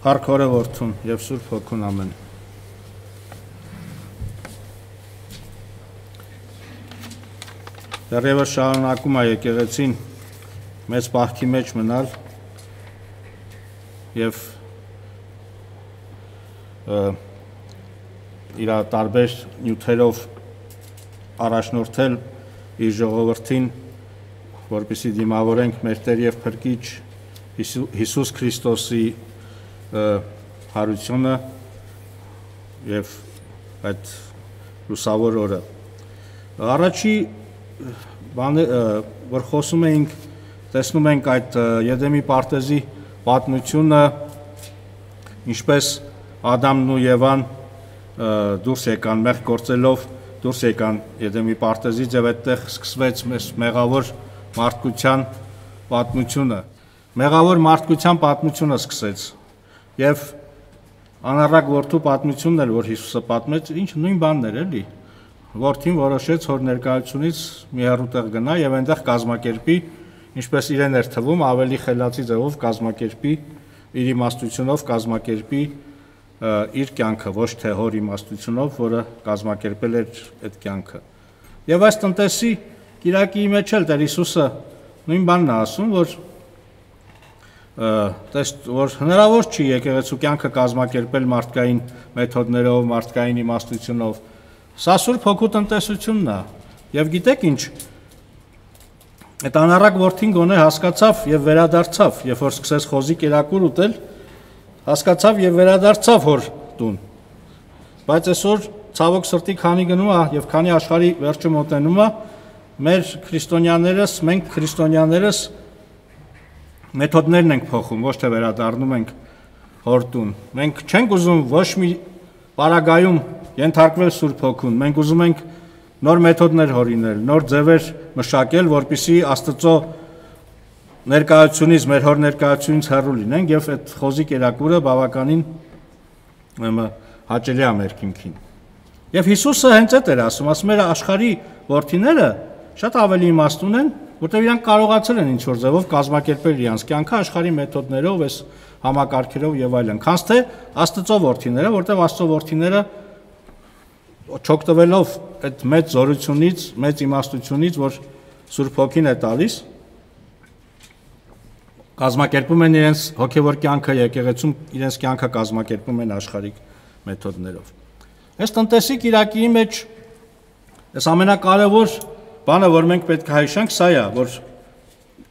Փառք Հորը Որդուն եւ Սուրբ Հոգուն ամեն։ Դեռևս շարունակում է եկեղեցին մեծ պահքի մեջ մնալ եւ իր տարբեր նյութերով առաջնորդել իր ժողովրդին, որպեսզի դիմավորենք մեր Տեր եւ Փրկիչ Հիսուս Քրիստոսի հարությունը եւ այդ լուսավոր օրը։ Առաջի բանը, որ խոսում էինք, տեսնում ենք այդ Եդեմի պարտեզի պատմությունը, ինչպես Ադամն ու Եվան դուրս եկան մեղք գործելով, դուրս եկան Եդեմի պարտեզից եւ այդտեղ սկսվեց մեղավոր մարդկության պատմությունը։ Մեղավոր մարդկության պատմությունը սկսեց եւ անառակ որդու պատմությունն էլ, որ Հիսուսը պատմեց, ինչ նույն բանն էր էլի։ Որդին որոշեց հոր ներկայությունից մի հեռու տեղ գնա եւ այնտեղ կազմակերպի, ինչպես իրեն էր թվում, ավելի խելացի ձևով կազմակերպի, իր իմաստությունով կազմակերպի իր կյանքը, ոչ թե հոր իմաստությունով, որը կազմակերպել էր այդ կյանքը։ Եվ այս տնտեսի կիրակի մեջ էլ Տեր Հիսուսը նույն բանն է ասում, որ հնարավոր չի եկեղեցու կյանքը կազմակերպել մարդկային մեթոդներով, մարդկային իմաստությունով։ Սա Սուրբ Հոգու տնտեսությունն է։ Եվ գիտեք ինչ, այդ անառակ որդին գոնե հասկացավ եւ վերադարձավ, երբ որ սկսեց խոզի կերակուր ուտել, հասկացավ եւ վերադարձավ հոր տուն։ Բայց այսօր ցավոք սրտի քանի գնում է եւ քանի աշխարհի վերջը մոտենում է, մեր քրիստոնյաներս, մենք քրիստոնյաներս մեթոդներն ենք փոխում, ոչ թե վերադառնում ենք հոր տուն։ Մենք չենք ուզում ոչ մի պարագայում ենթարկվել Սուրբ Հոգուն, մենք ուզում ենք նոր մեթոդներ հորինել, նոր ձևեր մշակել, որպեսզի Աստծո ներկայությունից, մեր հոր ներկայությունից հեռու լինենք եւ այդ խոզի կերակուրը բավականին հաճելի է մեր քիմքին։ Եվ Հիսուսը հենց այդ էր ասում էր աշխարհի որդիները շատ ավելի իմաստուն են, որտեղ իրանք կարողացել են ինչ-որ ձևով կազմակերպել իրենց կյանքը աշխարհի մեթոդներով, այս համակարգերով եւ այլն, քանց թե Աստծո որդիները, որտեղ Աստծո որդիները չօգտվելով այդ մեծ զորությունից, մեծ իմաստությունից, որ Սուրբ Հոգին է տալիս, կազմակերպում են իրենց հոգևոր կյանքը եկեղեցում, իրենց կյանքը կազմակերպում են աշխարհիկ մեթոդներով։ Այս տնտեսի կիրակի մեջ այս ամենակարևոր բանը, որ մենք պետք է հիշենք, սա է, որ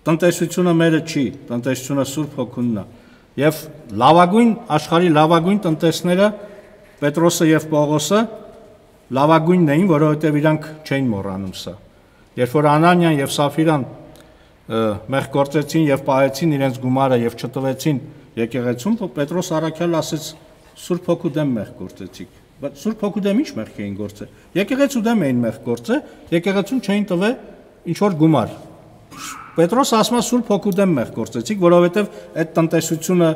տնտեսությունը մերը չի, տնտեսությունը Սուրբ Հոգունն է։ Եվ լավագույն աշխարհի լավագույն տնտեսները Պետրոսը եւ Պողոսը լավագույնն էին, որովհետեւ իրանք չէին մոռանում սա։ Երբ որ Անանիան եւ Սաֆիրան մեղք գործեցին եւ պահեցին իրենց գումարը եւ չտվեցին եկեղեցուն, Պետրոս առաքյալ ասեց Սուրբ Հոգու դեմ մեղք գործեցիք։ Բայց Սուրբ Հոգու դեմ ինչ մեղք էին գործել։ Եկեղեցու դեմ էին մեղք գործել, եկեղեցուն չէին տվել ինչ որ գումար։ Պետրոս ասում է Սուրբ Հոգու դեմ մեղք գործեցիք, որովհետեւ այդ տնտեսությունը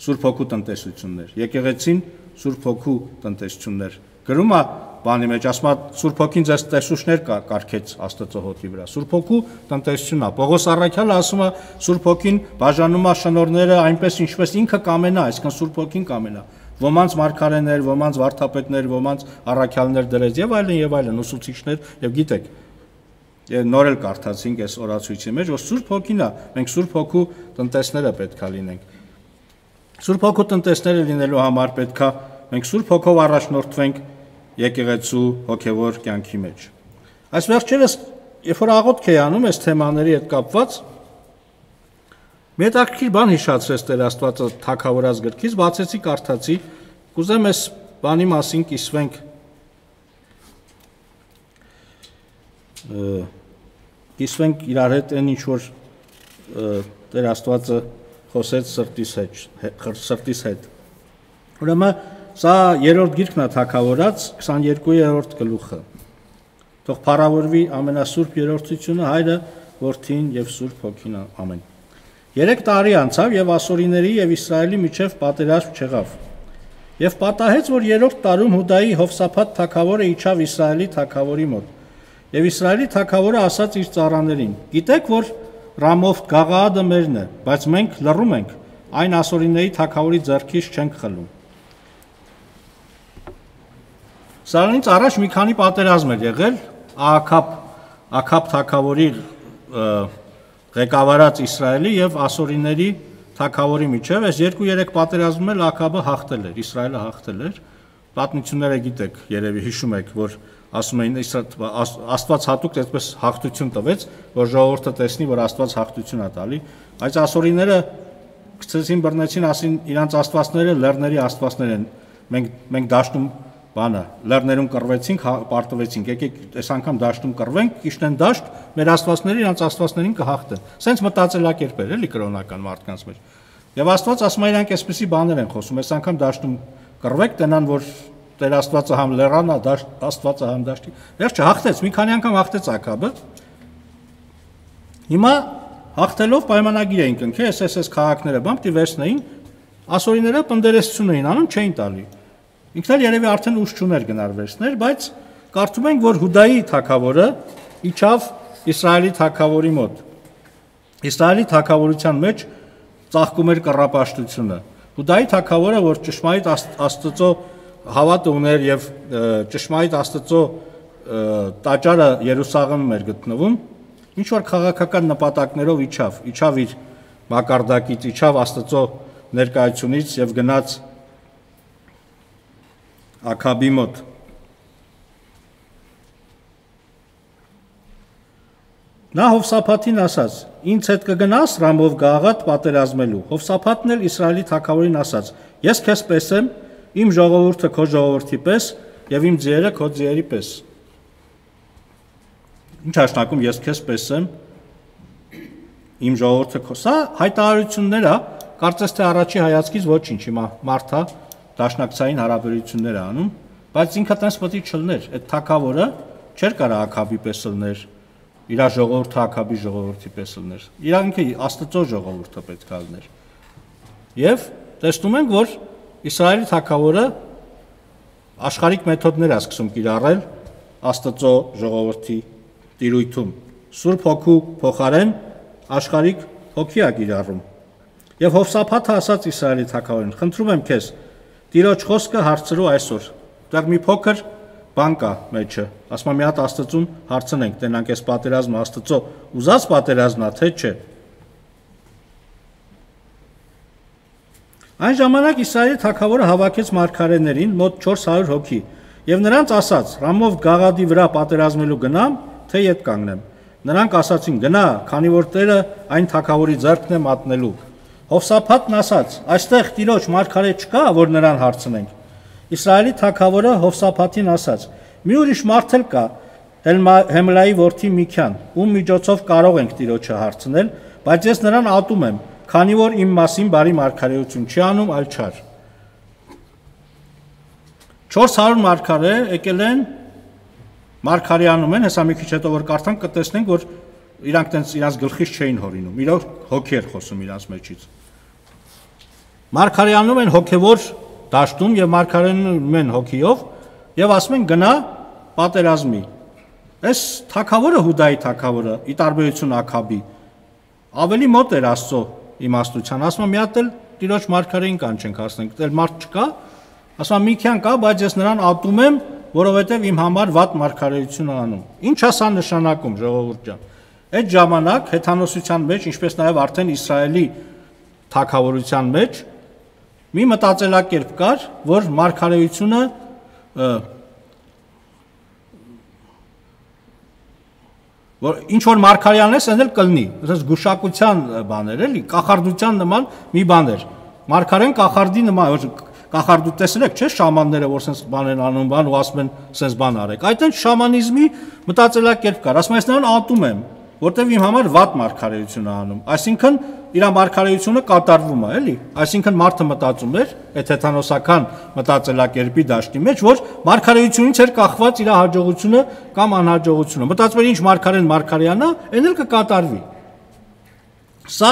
Սուրբ Հոգու տնտեսությունն էր։ Եկեղեցին Սուրբ Հոգու տնտեսությունն էր։ Գրում է բանի մեջ, ասում է Սուրբ Հոգին ձեզ տեսուչներ կարգեց Աստծո հոտի վրա։ Սուրբ Հոգու տնտեսությունն է։ Պողոս առաքյալը ասում է Սուրբ Հոգին բաժանում է շնորհները այնպես ինչպես ինքը կամենա, այսինքն Սուրբ Հոգին կամենա։ Ոմանց մարգարեներ, ոմանց վարդապետներ, ոմանց առաքյալներ դրեց եւ այլն, ուսուցիչներ եւ գիտեք։ Նոր էլ կարդացինք այս օրացույցի մեջ, որ Սուրբ Հոգին է, մենք Սուրբ Հոգու տնտեսները պետք է լինենք։ Սուրբ Հոգու տնտեսները լինելու համար պետք է մենք Սուրբ Հոգով առաջնորդվենք եկեղեցու հոգևոր կյանքի մեջ։ Այս վերջերս, երբ որ աղոթք էի անում այս թեմաների հետ կապված, մի հետաքրքիր բան հիշացրեց Տեր Աստվածը Թագավորաց գրքից, բացեցի կարդացի, կուզեմ այս բանի մասին կիսվենք իրար հետ այն ինչ որ Տեր Աստվածը խոսեց սրտիս հետ։ Ուրեմն սա երրորդ գիրքն է Թագավորաց 22-րդ գլուխը։ Թող փառավորվի ամենասուրբ երրորդությունը, Հայրը, Որդին եւ Սուրբ Հոգին, ամեն։ 3 տարի անցավ եւ ասորիների եւ Իսրայելի միջև պատերազմ չեղավ։ Եվ պատահեց, որ 3-րդ տարում Հուդայի Հովսափաթ թագավորը իջավ Իսրայելի թագավորի մոտ։ Եվ Իսրայելի թագավորը ասաց իր ծառաներին. «Գիտեք, որ Ռամովթ Գաղաադը մերն է, բայց մենք լռում ենք, այն ասորիների թագավորի ձեռքից չենք խլում։ Սրանից առաջ մի քանի պատերազմ էր եղել Աքաբ թագավորի ղեկավարած Իսրայելի եւ ասորիների թագավորի միջև, այս 2-3 պատերազմում էլ Աքաբը հաղթել էր, Իսրայելը հաղթել էր։ Պատմությունները գիտեք, երևի հիշում եք, որ ասում էին Աստված հատուկ այդպես հաղթություն տվեց, որ ժողովուրդը տեսնի, որ Աստված հաղթություն է տալի, բայց ասորիները գցեցին բռնեցին, ասին իրանց աստվածները լեռների աստվածներ են, մենք դաշտում բանը, լեռներում կռվեցինք, պարտվեցինք, եկեք այս անգամ դաշտում կռվենք, կիշնեն դաշտ, մեր աստվածները իրանց աստվածներին կհաղթեն։ Սենց մտածելակերպ էր էլի կրոնական մարդկանց մեջ։ Եվ Աստված ասում է իրանք այսպիսի բաներ են խոսում, այս անգամ դաշտում կռվեք, տնան որ Տեր Աստվածը համ լեռան է, Աստվածը համ դաշտի։ Վերջը հաղթեց, մի քանի անգամ հաղթեց Աքաբը։ Հիմա հաղթելով պայմանագիր էին կնքել, SS քաղաքները բամ դիվերսնային, ասորիները պնդերեսություն էին անում, չէին տալի։ Ինքն էլ երևի արդեն ուժ չուներ գնար վերցներ, բայց կարծում ենք, որ Հուդայի թագավորը իջավ Իսրայելի թագավորի մոտ։ Իսրայելի թագավորության մեջ ծաղկում էր կռապաշտությունը։ Հուդայի թագավորը, որ ճշմարիտ Աստծո հավատը ուներ եւ ճշմարիտ Աստծո տաճարը Երուսաղեմում էր գտնվում, ինչ որ քաղաքական նպատակներով իջավ իր մակարդակից, իջավ Աստծո ներկայությունից եւ գնաց Աքաբի մոտ։ Նա Հովսափաթին ասաց. «Ինձ հետ կգնաս Ռամով Գաղատ պատերազմելու»։ Հովսափաթն էլ Իսրայելի թագավորին ասաց. «Ես քեզ պես եմ, իմ ժողովուրդը քո ժողովրդի պես եւ իմ ձիերը քո ձիերի պես»։ Ինչ հաշնակում ես քեզ պես եմ, իմ ժողովուրդը քո։ Սա հայտարարություններ է, կարծես թե առաջի հայացքից ոչինչ, հիմա մարդա դաշնակցային հարաբերություններ է անում, բայց ինքը տես պետք է չլներ, այդ թագավորը չէր կարա Աքաբի պես լներ, իր ժողովուրդը Աքաբի ժողովրդի պես լներ, իրանքը Աստծո ժողովուրդը պետք է լներ։ Եվ տեսնում ենք, որ Իսրայելի թագավորը աշխարհիկ մեթոդներ է սկսում կիրառել Աստծո ժողովրդի տիրույթում։ Սուրբ Հոգու փոխարեն աշխարհիկ հոգի է կիրառում։ Եվ Հովսափաթը ասաց Իսրայելի թագավորին. «Խնդրում եմ քեզ, Տիրոջ խոսքը հարցրու այսօր»։ Դեռ մի փոքր բան կա մեջը։ Ասում եմ մի հատ Աստծուն հարցնենք, տենանք այս պատերազմը Աստծո ուզած պատերազմն է, թե չէ։ Այն ժամանակ Իսրայելի թագավորը հավաքեց մարգարեներին մոտ 400 հոգի եւ նրանց ասաց. «Ռամով Գաղադի վրա պատերազմելու գնամ, թե ետ կանգնեմ»։ Նրանք ասացին. «Գնա, քանի որ Տերը այն թագավորի ձեռքն է մատնելու»։ Հովսափաթն ասաց. «Այստեղ Տիրոջ մարգարե չկա, որ նրան հարցնենք»։ Իսրայելի թագավորը Հովսափաթին ասաց. «Մի ուրիշ մարդ էլ կա, Հեմլայի որդի Միքյան, ում միջոցով կարող ենք Տիրոջը հարցնել, բայց ես նրան ատում եմ, քանի որ իմ մասին բարի մարգարեություն չի անում, այլ չար»։ 400 մարգարե եկել են, մարգարեանում են, հեսա մի քիչ հետո որ կարդանք կտեսնենք, որ իրանք տենց իրանց գլխից չէին հորինում, իրոք հոգի էր խոսում իրանց մեջից։ Մարգարեանում են հոգևոր դաշտում եւ մարգարեանում են հոգիով եւ ասում են գնա պատերազմի։ Այս թագավորը Հուդայի թագավորը, ի տարբերություն Աքաբի, ավելի մոտ էր Աստծո իմաստության, ասում եմ մի հատ էլ Տիրոջ մարգարեին կանչենք հասնենք, դեռ մարդ չկա, ասում եմ Միքյան կա, բայց ես նրան ատում եմ, որովհետեւ իմ համար վատ մարգարեություն է անում։ Ինչ է սա նշանակում, ժողովուրդ ջան։ Այդ ժամանակ հեթանոսության մեջ, ինչպես նաև արդեն Իսրայելի թագավորության մեջ մի մտածելակերպ կար, որ մարգարեությունը որ ինչ որ մարգարեանես են էլ կլնի, ասես գուշակության բաներ էլի, կախարդության նման մի բաներ։ Մարգարեն կախարդի նման, կախարդու տեսել եք, չէ՞ շամանները, որ sense բան են անում, բան ու ասում են sense բան արեք։ Այդ այն շամանիզմի մտածելակերպ կար, ասում ես նրան ատում եմ, որտեվ իմ համար վատ մարգարեություն է անում։ Այսինքն իր մարգարեությունը կատարվում է, էլի։ Այսինքն մարդը մտածում էր, այդ հեթանոսական մտածելակերպի դաշտի մեջ, որ մարգարեությունից էր կախված իր հաջողությունը կամ անհաջողությունը։ Մտածում էր ինչ մարգարեն մարգարեանա, այն էլ կկատարվի։ Սա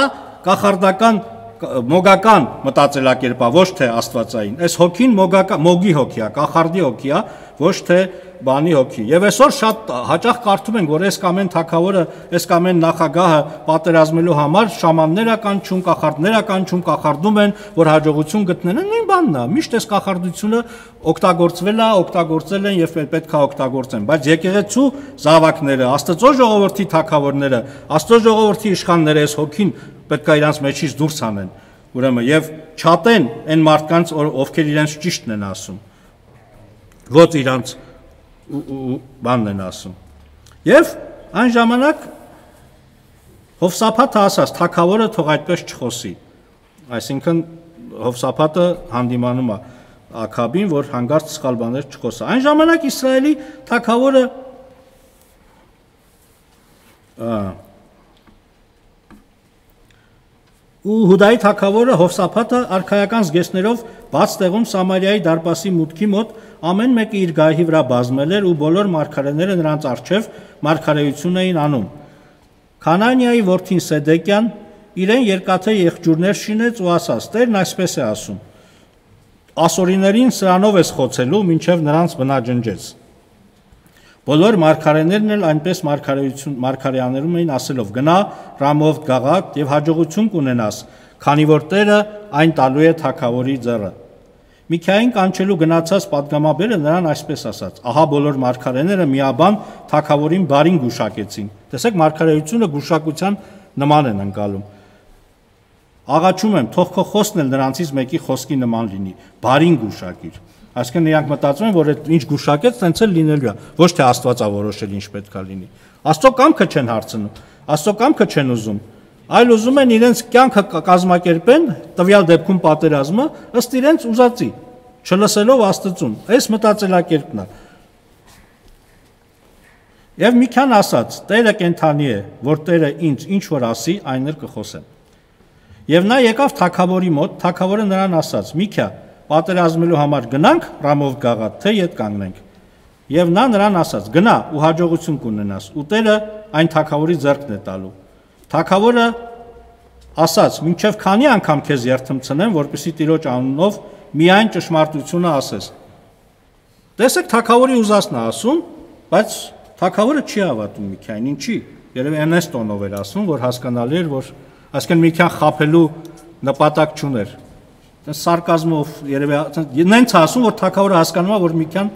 կախարդական մոգական մտածելակերպա, ոչ թե աստվածային։ Այս հոգին մոգի հոգի է, կախարդի հոգի է, ոչ թե բանի հոգի։ Եվ այսօր շատ հաճախ կարդում ենք, որ այս կամ այն թագավորը, այս կամ այն նախագահը պատերազմելու համար շամաններ է կանչում, կախարդներ է կանչում, կախարդում են, որ հաջողություն գտնեն։ Նույն բանն է։ Միշտ այս կախարդությունը օգտագործվել է, օգտագործել են եւ պետք է օգտագործեն։ Բայց եկեղեցու զավակները, Աստծո ժողովրդի թագավորները, Աստծո ժողովրդի իշխանները այս հոգին պետք է իրանց մեջից դուրս անեն։ Ուրեմն եւ չատեն այն մարդկանց, ովքեր իրենց ճիշտն են ասում։ Ոչ իրանց բանն են ասում։ Եվ այն ժամանակ Հովսափաթը ասաց, թագավորը թող այդպես չխոսի։ Այսինքն Հովսափաթը հանդիմանում է Աքաբին, որ հանգարց սխալ բաներ չխոսա։ Այն ժամանակ Իսրայելի թագավորը ու Հուդայի թագավորը Հովսափաթը արքայական զգեստներով բաց տեղում Սամարիայի դարպասի մուտքի մոտ ամեն մեկը իր գահի վրա բազմել էր ու բոլոր մարգարեները նրանց առջև մարգարեություն էին անում։ Քանանիայի որդին Սեդեկյան իրեն երկաթե եղջյուրներ շինեց ու ասաց. Տերն այսպես է ասում. ասորիներին սրանով ես խոցելու, մինչև նրանց բնաջնջեց։ Բոլոր մարգարեներն էլ այնպես մարգարեաներում էին ասելով. գնա Ռամով Գաղատ եւ հաջողություն կունենաս, քանի որ Տերը այն տալու է թագավորի ձեռը։ Միքային կանչելու գնացած պատգամաբերը նրան այսպես ասաց. ահա բոլոր մարգարեները միաբան թագավորին բարին գուշակեցին։ Տեսեք, մարգարեությունը գուշակության նման են ընկալում։ Աղաչում եմ, թող քո խոսքն էլ նրանցից մեկի խոսքի նման լինի, բարին գուշակիր։ Այսինքն նրանք մտածում են, որ այդ ինչ գուշակեց, տենց էլ լինելու է, ոչ թե Աստված է որոշել ինչ պետք է լինի։ Աստծո կամքը չեն հարցնում, Աստծո կամքը չեն ուզում, այլ ուզում են իրենց կյանքը կազմակերպեն, տվյալ դեպքում պատերազմը, ըստ իրենց ուզածի, չլսելով Աստծուն։ Այս մտածելակերպն է։ Եվ Միքան ասաց. Տերը կենթանի է, որ Տերը ինձ ինչ որ ասի, այն էլ կխոսեմ։ Եվ նա եկավ թագավորի մոտ, թագավորը նրան ասաց. Միքա, պատերազմելու համար գնանք Ռամով Գաղատ, թե ետ կանգնենք։ Եվ նա նրան ասաց. գնա ու հաջողություն կունենաս, ու Տերը այն թագավորի ձեռքն է տալու։ Թագավորը ասաց. մինչև քանի անգամ քեզ երթմցնեմ, որպեսզի Տիրոջ անունով միայն ճշմարտությունը ասես։ Տեսեք, թագավորի ուզածն է ասում, բայց թագավորը չի հավատում Միքային, ինչի։ Երևի այնպես տոնով էր ասում, որ հասկանալի էր, որ այսինքն Միքան խաբելու նպատակ չուներ։ Սարկազմով երևի նենց ասում, որ թագավորը հասկանում է, որ Միքան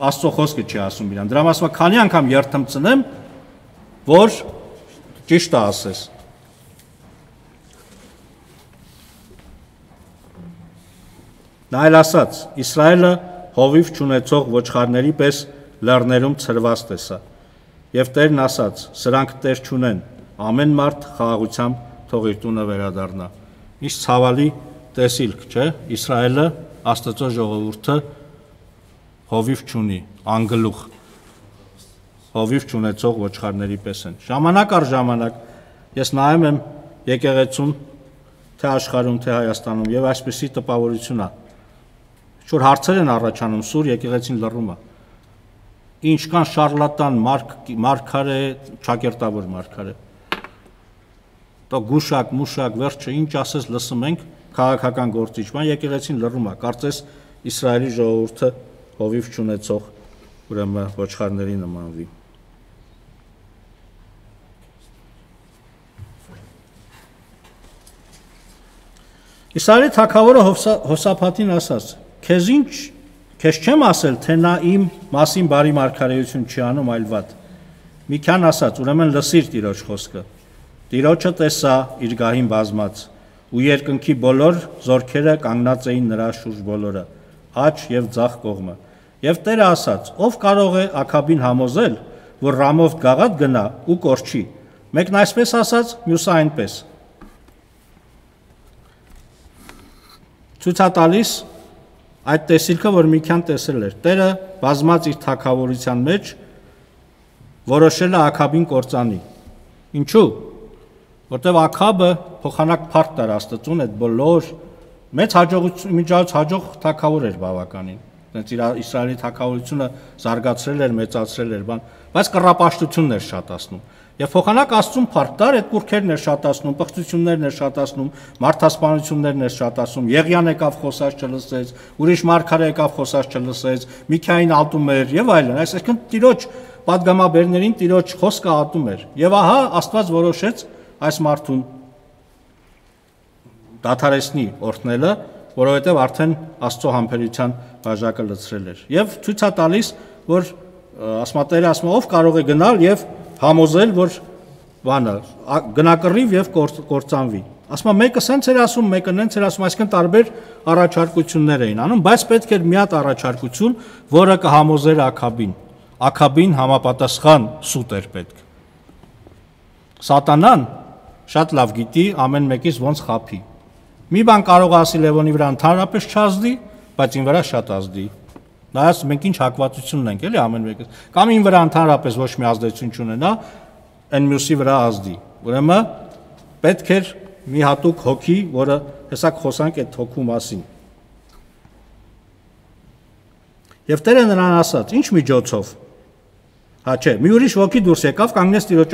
Աստծո խոսքը չի ասում իրան։ Դրա մասը քանի անգամ երթմցնեմ, որ ճիշտ է ասես։ Նա էլ ասաց. Իսրայելը հովիվ չունեցող ոչխարների պես լեռներում ցրված տեսա։ Եվ Տերն ասաց. սրանք Տեր չունեն, ամեն մարդ խաղաղությամբ թող իր տունը վերադառնա։ Ինչ ցավալի տեսիլք, չէ՞։ Իսրայելը, Աստծո ժողովուրդը հովիվ չունի, անգլուխ, հովիվ չունեցող ոչխարների պես են։ Ժամանակ առ ժամանակ ես նայում եմ եկեղեցուն, թե աշխարհում, թե Հայաստանում, եւ այսպեսի տպավորություն է։ Շուտ հարցեր են առաջանում, սուր եկեղեցին լռում է։ Ինչքան շարլատան մարգարե, ճակերտավոր մարգարե։ Դա գուշակ, մուշակ, վերջը ինչ ասես լսում ենք, քաղաքական գործիչ, բան եկեղեցին լռում է։ Կարծես Իսրայելի ժողովուրդը հովիվ չունեցող ուրեմն ոչխարների նմանվի։ Իսրայելի թագավորը Հովսափաթին ասաց. Քեզ չեմ ասել, թե նա իմ մասին բարի մարգարեություն չի անում, այլ վատ։ Միքան ասաց. ուրեմն լսիր Տիրոջ խոսքը։ Տիրոջը տեսա իր գահին բազմած, ու երկնքի բոլոր զորքերը կանգնած էին նրա շուրջ բոլորը, աջ եւ ձախ կողմը։ Եվ Տերը ասաց. ով կարող է Աքաբին համոզել, որ Ռամով Գաղատ գնա ու կորչի։ Մեկն այսպես ասաց, մյուսը այնպես։ Ցույց է տալիս այդ տեսիլքը, որ Միքան տեսել էր։ Տերը բազմած իր թագավորության մեջ որոշել է Աքաբին կործանի։ Ինչու՞։ Որտեւ Աքաբը փոխանակ փառք տար Աստծուն, այդ բոլոր մեծ հաջողություն միջից հաջող թագավոր էր բավականին։ Դենց իր Իսրայելի թագավորությունը զարգացրել էր, մեծացրել էր, բայց կռապաշտությունն էր շատացնում։ Եվ փոխանակ Աստծուն փառք տար, այդ կուրքերն էր շատացնում, պղծություններն էր շատացնում, մարդասպանություններն էր շատացնում, Եղիան եկավ խոսած չլսեց, ուրիշ մարգարե եկավ խոսած չլսեց, Միքային ատում էր եւ այլն, այսինքն Տիրոջ պատգամաբերներին Տիրոջ խոսքը ատում էր։ Եվ ահա Աստված որոշեց այս մարդուն դադարեցնի օրհնելը, որովհետև արդեն Աստծո համբերության բաժակը լցրել էր։ Եվ ցույց է տալիս, որ ասմատերը ասում ով կարող է գնալ եւ համոզել, որ բանը գնակռիվ եւ կործանվի։ Ասում մեկը սենց էր ասում, մեկը նենց էր ասում, այսինքն տարբեր առաջարկություններ էին անում, բայց պետք էր մի հատ առաջարկություն, որը կհամոզեր Աքաբին։ Աքաբին համապատասխան սուտ էր պետք։ Սատանան շատ լավ գիտի ամեն մեկից ոնց խափի։ Մի բան կարող ասի Լևոնի վրա ընդհանրապես չազդի, բայց ին վրա շատ ազդի։ Նայած մենք ինչ հակվածություն ունենք, էլի ամեն մեկը։ Կամ ին վրա ընդհանրապես ոչ մի ազդեցություն չունենա, այն մյուսի վրա ազդի։ Ուրեմն պետք էր մի հատուկ հոգի, որը հեսա խոսանք այդ հոգու մասին։ Եվ Տերը նրան ասաց. «Ինչ միջոցով»։ Հա չէ, մի ուրիշ ոգի դուրս եկավ, կանգնեց Տիրոջ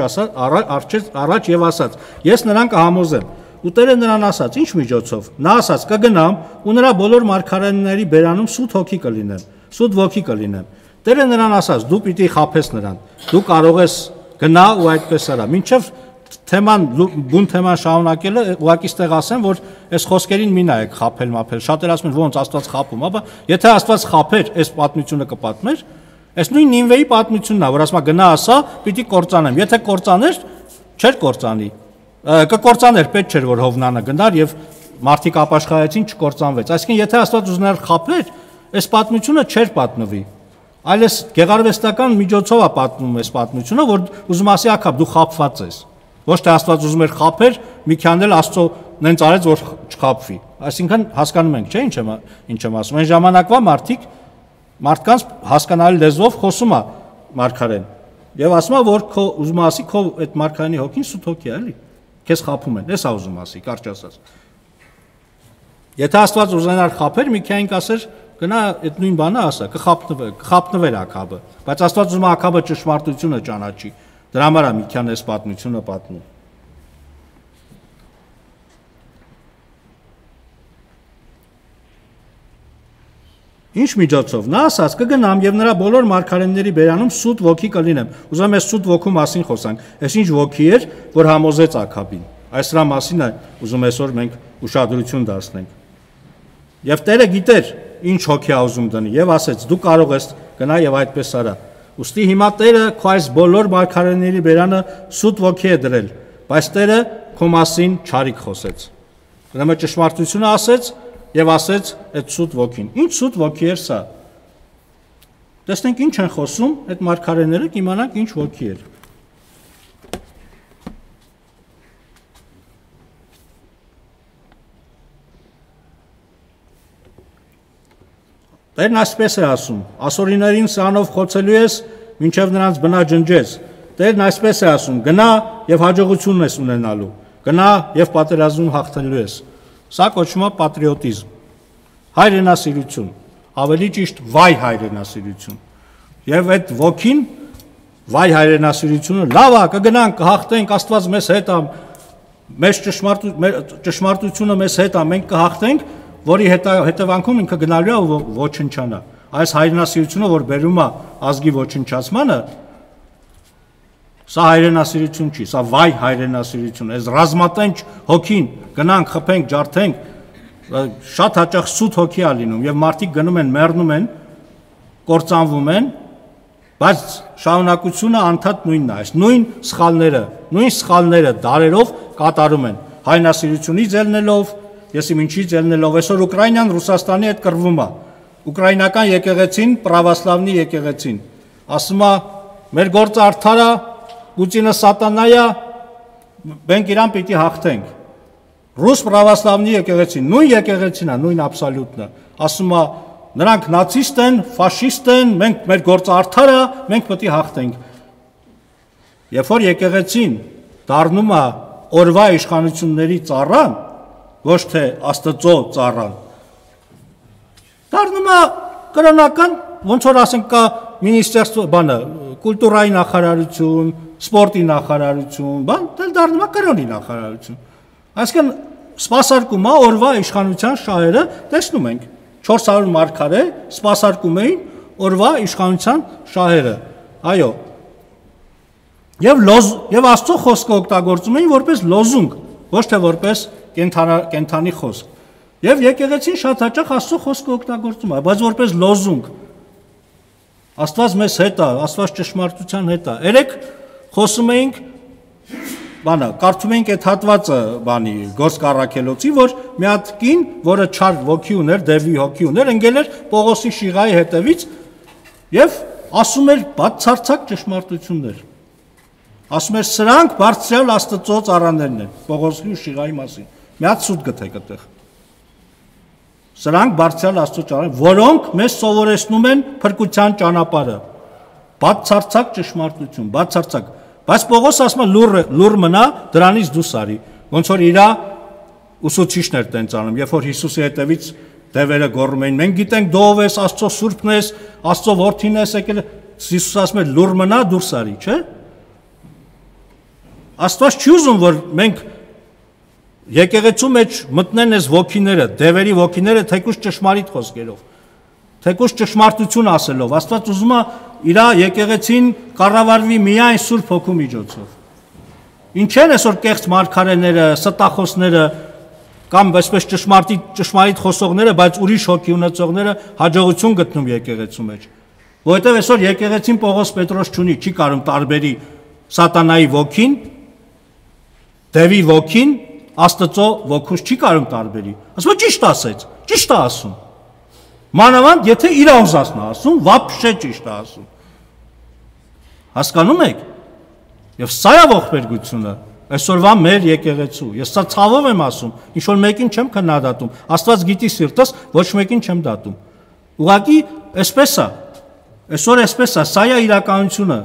առաջ եւ ասաց. «Ես նրան կհամոզեմ»։ Ու Տերը նրան ասաց. «Ինչ միջոցով»։ Նա ասաց. «Կգնամ ու նրա բոլոր մարգարեների բերանում սուտ հոգի կլինեմ, սուտ ոգի կլինեմ»։ Տերը նրան ասաց. «Դու պիտի խաբես նրան։ Դու կարող ես գնա ու այդպես արա»։ Մինչև թեման բուն թեման շարունակելը ուղղակի ստեղ ասեմ, որ այս խոսքերին մի նայեք խաբել մափել։ Շատեր ասում են ոնց Աստված խաբում, ապա եթե Աստված խաբեր, այս պատմությունը կպատմեր, այս նույն Նինվեի պատմությունն է, որ ասում է գնա ասա, պիտի կործանեմ։ Եթե կործաներ, չէր կործանի։ Կկործաներ, պետք չէր որ Հովնանը գնար եւ մարդիկ ապաշխարեցին, չկործանվեց։ Այսինքն եթե Աստված ուզներ խաբեր, այս պատմությունը չէր պատմվի։ Այլ այս գեղարվեստական միջոցով է պատմում այս պատմությունը, որ ուզում ասի Աքաբ դու խաբված ես։ Ոչ թե Աստված ուզում էր խաբեր, մի քան էլ Աստծո նենց արեց որ չխաբվի։ Այսինքն հասկանում ենք, չէ՞ ինչ եմ ասում։ Այն ժամանակվա մարդկանց հասկանալի լեզվով խոսում է մարգարեն։ Եվ ասում է որ քո ուզում ասի քո այդ մարգարենի հոգին սուտ հոգի է, էլի։ Քեզ խաբում են, էս է ուզում ասի, կարճ ասած։ Եթե Աստված ուզենար խաբեր, մի քան կասեր գնա այդ նույն բանը ասա, կխաբնվեր Աքաբը, բայց Աստված ուզում է Աքաբը ճշմարտությունը ճանաչի։ Դրա համար է մի քան այս պատմությունը պատմում։ Ինչ միջոցով նա ասաց կգնամ եւ նրա բոլոր մարգարեների բերանում սուտ ոգի կլինեմ։ Ուզում եմ այս սուտ ոգու մասին խոսանք։ Այս ինչ ոգի էր, որ համոզեց Աքաբին։ Այս դրա մասին է ուզում այսօր մենք ուշադրություն դարձնենք։ Եվ Տերը գիտեր ինչ հոգի է ուզում դնի եւ ասեց դու կարող ես գնա եւ այդպես արա։ Ուստի հիմա Տերը քո այս բոլոր մարգարեների բերանը սուտ ոգի է դրել, բայց Տերը քո մասին չարիք խոսեց։ Ուրեմն ճշմարտությունը ասեց եւ ասեց այդ սուտ ոգին։ Ինչ սուտ ոգի էր սա։ Տեսնենք ինչ են խոսում այդ մարգարեները, կիմանանք ինչ ոգի էր։ Տերն այսպես է ասում. ասորիներին սրանով խոցելու ես, մինչև նրանց բնաջնջես։ Տերն այսպես է ասում. գնա եւ հաջողություն ես ունենալու, գնա եւ պատերազմում հաղթելու ես։ Սա կոչվում է պատրիոտիզմ, հայրենասիրություն, ավելի ճիշտ վայ հայրենասիրություն։ Եվ այդ ոգին վայ հայրենասիրությունը լավ է, կգնանք, կհաղթենք, Աստված մեզ հետ է, մեր ճշմարտությունը մեզ հետ է, մենք կհաղթենք, որի հետևանքում ինքը գնալու է ու ոչնչանա։ Այս հայրենասիրությունը, որ բերում է ազգի ոչնչացմանը, սա հայրենասիրություն չի, սա վայ հայրենասիրություն է, այս ռազմատենչ հոգին, գնանք, խփենք, ջարդենք, շատ հաճախ սուտ հոգի է լինում եւ մարդիկ գնում են, մեռնում են, կործանվում են, բայց շարունակությունը անդադ նույնն է, այս նույն սխալները դարերով կատարում են, հայրենասիրությունից ելնելով, ես իմ ինչից ելնելով, այսօր Ուկրաինան Ռուսաստանի հետ կռվում է, ուկրաինական եկեղեցին, պրավասլավնի եկեղեցին, ասում է, մեր գործը արդար է, Պուտինը սատանա է, մենք իրան պիտի հաղթենք։ Ռուս պրավասլավնի եկեղեցին, նույն եկեղեցին է, նույն աբսոլյուտն է, ասում է, նրանք նացիստ են, ֆաշիստ են, մենք մեր գործը արդար է, մենք պետք է հաղթենք։ Երբ որ եկեղեցին դառնում է օրվա իշխանությունների ծառան, ոչ թե Աստծո ծառան, դառնում է կրոնական ոնց որ ասենք կա մինիստրство, բանը, կուլտուրայի նախարարություն, սպորտի նախարարություն, բան, դեռ դառնում է կրոնի նախարարություն։ Այսինքն սպասարկում է օրվա իշխանության շահերը, տեսնում ենք 400 մարգարե սպասարկում էին օրվա իշխանության շահերը։ Այո։ Եվ Աստծո խոսքը օգտագործում էին որպես լոզունգ, ոչ թե որպես կենթանի խոսք։ Եվ եկեղեցին շատ հաճախ Աստծո խոսքը օգտագործում է, բայց որպես լոզունգ։ Աստված մեզ հետ է, Աստված ճշմարտության հետ է։ Երեք խոսում էինք, բանը, կարդում էինք այդ հատվածը, բանի, Գործք Առաքելոցի, որ մի հատ կին, որը չար ոգի ուներ, դևի հոգի ուներ, ընկել էր Պողոսի շիղայի հետևից եւ ասում էր բացարձակ ճշմարտություններ։ Ասում էր սրանք բարձրյալ Աստծո ծառաներն են, Պողոսի ու շիղայի մասին։ Մի հատ սուտ գտեք այդտեղ։ Սրանք բարձրյալ Աստծո ծառաներ, որոնք մեզ սովորեցնում են փրկության ճանապարհը։ Բացարձակ ճշմարտություն, բացարձակ։ Բայց Պողոս ասում է լուր մնա, դրանից դուրս արի։ Ոնց որ իրա ուսուցիչներ տենց անում, երբ որ Հիսուսի հետևից դևերը գոռում էին, մենք գիտենք դու ով ես, Աստծո սուրբն ես, Աստծո որդին ես եկել, Հիսուս ասում է լուր մնա, դուրս արի, չէ՞։ Աստված չի ուզում, որ մենք եկեղեցու մեջ մտնեն այս ոգիները, դևերի ոգիները, թեկուզ ճշմարիտ խոսքերով, թեկուզ ճշմարտություն ասելով, Աստված ուզում է իր եկեղեցին կառավարվի միայն Սուրբ Հոգու միջոցով։ Ինչ են այսօր կեղծ մարգարեները, ստախոսները կամ այսպես ճշմարիտ խոսողները, բայց ուրիշ հոգի ունեցողները հաջողություն գտնում եկեղեցու մեջ։ Որովհետև այսօր եկեղեցին Պողոս Պետրոս չունի, չի կարող տարբերի սատանայի ոգին, դևի ոգին, Աստծո ոգուց չի կարող տարբերի։ Ասում է ճիշտ ասեց, ճիշտ է ասում։ Մանավանդ եթե իր ուզածն է ասում, վաբշե ճիշտ է ասում։ Հասկանում եք։ Եվ սա է ողբերգությունը, այսօրվա մեր եկեղեցու։ Ես սա ցավով եմ ասում, ինչ որ մեկին չեմ քննադատում։ Աստված գիտի սիրտս, ոչ մեկին չեմ դատում։ Ուղղակի այսպես է։ Այսօր այսպես է, սա է իրականությունը։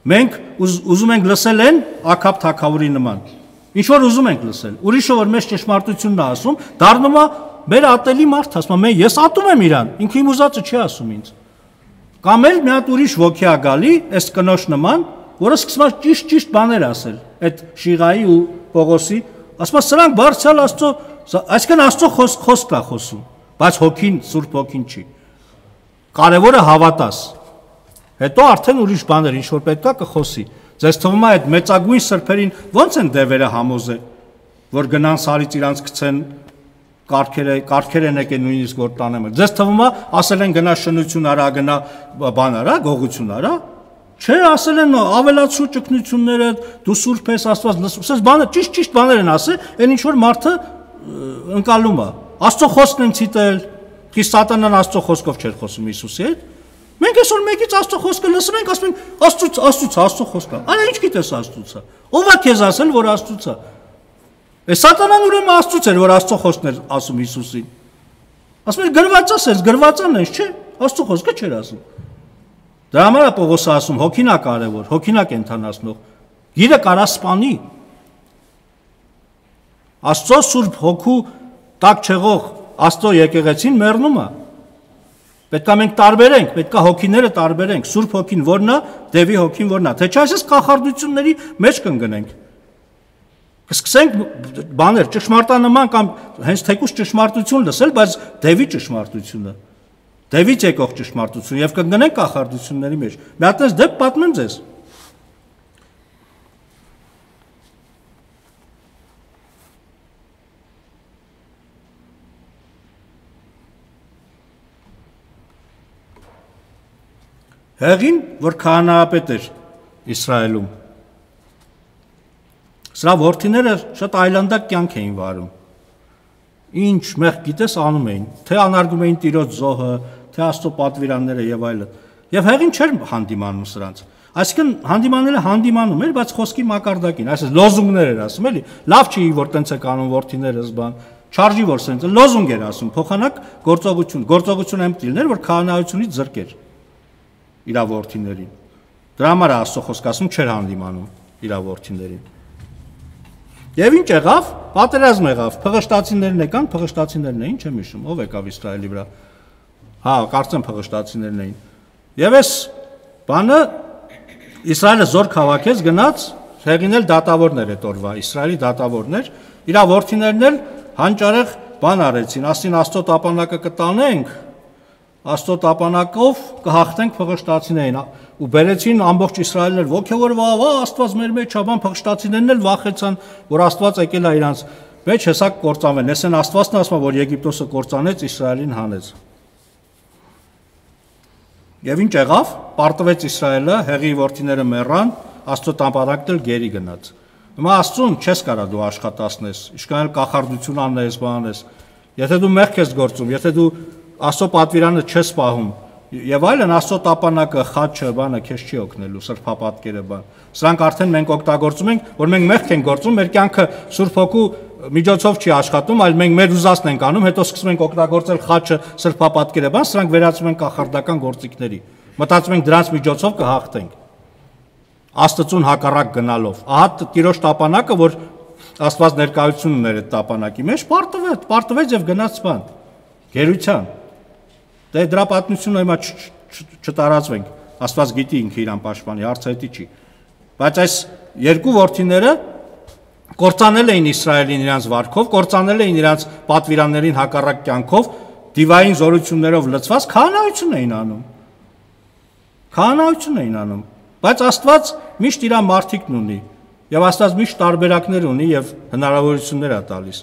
Մենք ուզում ենք լսել են Աքաբ թագավորի նման։ Ինչ որ ուզում ենք լսել։ Ուրիշը որ մեզ ճշմարտությունն է ասում, դառնում է մեր ատելի մարդ, ասում է ես ատում եմ իրան, ինքը իմ ուզածը չի ասում ինձ։ Կամ էլ մի հատ ուրիշ ոգի է գալի, այս կնոջ նման, որը սկսում է ճիշտ բաներ ասել, այդ Շիղայի ու Պողոսի, ասում է սրանք բարձրալ Աստծո, այսինքն Աստծո խոսքն է խոսում, բայց հոգին, Սուրբ Հոգին չի։ Կարևորը հավատաս։ Հետո արդեն ուրիշ բաներ, ինչ որ պետքա կխոսի։ Ձեզ թվում է այդ մեծագույն սրբերին ո՞նց են դևերը համոզել, որ գնան սարից իրանց գցեն կարգեր են եկել նույնիսկ որ տանեմ։ Ձեզ թվում է ասել են գնա շնություն արա, գնա բան արա, գողություն արա։ Չէ, ասել են ավելացու ճգնությունները, դու սուրբ ես, Աստված լսում։ Սենց բանը ճիշտ բաներ են ասել, այն ինչ որ մարդը ընկալում է։ Աստծո խոսքն են ցիտել, իսկ սատանան Աստծո խոսքով չէր խոսում Հիսուսի հետ։ Մենք այսօր մեկից Աստծո խոսքը լսում ենք, ասում ենք Աստծո խոսքը։ Արա ինչ գիտես Աստծո։ Ո՞վ է քեզ ասել, որ Աստծո։ Այս սատանան ուրեմն Աստծո էր, որ Աստծո խոսքն էր ասում Հիսուսին։ Ասում էր գրվածան ես, չէ՞։ Աստծո խոսքը չէր ասում։ Դրա համար է Պողոսը ասում, հոգին է կարևոր, հոգին է կենթանացնող։ Գիրը կարա սպանի։ Աստծո Սուրբ Հոգու տակ չեղող Աստծո եկեղեցին մեռնում է։ Պետք է մենք տարբերենք, պետք է հոգիները տարբերենք, Սուրբ Հոգին որն է, Դևի Հոգին որն է, թե չէ այսպես կախարդությունների մեջ կընկնենք։ Կսկսենք բաներ ճշմարտանման կամ հենց թեկուզ ճշմարտություն լսել, բայց Դևի ճշմարտությունը, Դևից եկող ճշմարտություն եւ կընկնենք կախարդությունների մեջ։ Մի հատ դեպք պատմեմ ձեզ։ Հեղին, որ քահանայապետ էր Իսրայելում, սրա որդիները շատ այլանդակ կյանք էին վարում։ Ինչ մեղ գիտես անում էին, թե անարգում էին Տիրոջ զոհը, թե Աստծո պատվիրանները եւ այլն։ Եվ հեղին չէր հանդիմանում սրանց։ Այսինքն հանդիմանելը հանդիմանում էր, բայց խոսքի մակարդակին, այսպես լոզունգներ էր ասում, էլի։ Լավ չի, որ տենց է կանոն որդիներս բան, չարժի որ սենց լոզունգ էր ասում, փոխանակ գործողություն եմտիլներ, որ քահանայությունից զրկեր իր որդիներին։ Դրա համար Աստծո խոսքը ասում չէր հանդիմանում իր որդիներին։ Եվ ինչ եղավ, պատերազմ եղավ, փղշտացիներն եկան, փղշտացիներն էին, չեմ հիշում, ով եկավ Իսրայելի վրա։ Հա, կարծեմ փղշտացիներն էին։ Եվ այս բանը Իսրայելը զորք հավաքեց, գնաց, հեղինել դատավորներ այդ օրվա, Իսրայելի դատավորներ, իր որդիներն էլ հանճարեղ բան արեցին, ասին Աստծո տապանակը կտանենք, Աստծո տապանակով կհաղթենք փղշտացիներին, ու բերեցին ամբողջ Իսրայելն էլ ոգևորվավ, Աստված մեր մեջ է, բան փղշտացիներն էլ վախեցան, որ Աստված եկել է իրանց մեջ, հեսա կործանվեն, ասեն Աստվածն ասում է, որ Եգիպտոսը կործանեց, Իսրայելին հանեց։ Եվ ինչ եղավ, պարտվեց Իսրայելը, հեղի որդիները մեռան, Աստծո տապանակն էլ գերի գնաց։ Հիմա Աստծուն չես կարա դու աշխատացնես, ինչքան էլ կախարդություն անես, բանես, եթե դու մեղք ես գործում, եթե դու Աստծո պատվիրանը չես պահում, եւ այլն, Աստծո տապանակը, խաչը, բանը քեզ չի օգնելու, սրբապատկերը, բան։ Սրանք արդեն մենք օգտագործում ենք, որ մենք մեղք ենք գործում, մեր կյանքը Սուրբ Հոգու միջոցով չի աշխատում, այլ մենք մեր ուզածն ենք անում, հետո սկսում ենք օգտագործել խաչը, սրբապատկերը, բան, սրանք վերածվում են կախարդական գործիքների։ Մտածում ենք դրանց միջոցով կհաղթենք։ Աստծուն հակառակ գնալով։ Ահա Տիրոջ տապանակը, որ Աստված ներկայություն ուներ այդ տապանակի մեջ, պարտվեց եւ գնաց բան։ Գերության։ Դե դրա պատմությունը հիմա չտարածվենք։ Աստված գիտի ինքը իրան պաշտպանի, հարցը դա չի։ Բայց այս երկու որդիները կործանել էին Իսրայելին իրանց վարքով, կործանել էին իրանց պատվիրաններին հակառակ կյանքով, դիվային զորություններով լցված քահանայություն էին անում։ Քահանայություն էին անում։ Բայց Աստված միշտ իր մարդիկն ունի, եւ Աստված միշտ տարբերակներ ունի եւ հնարավորություններ է տալիս։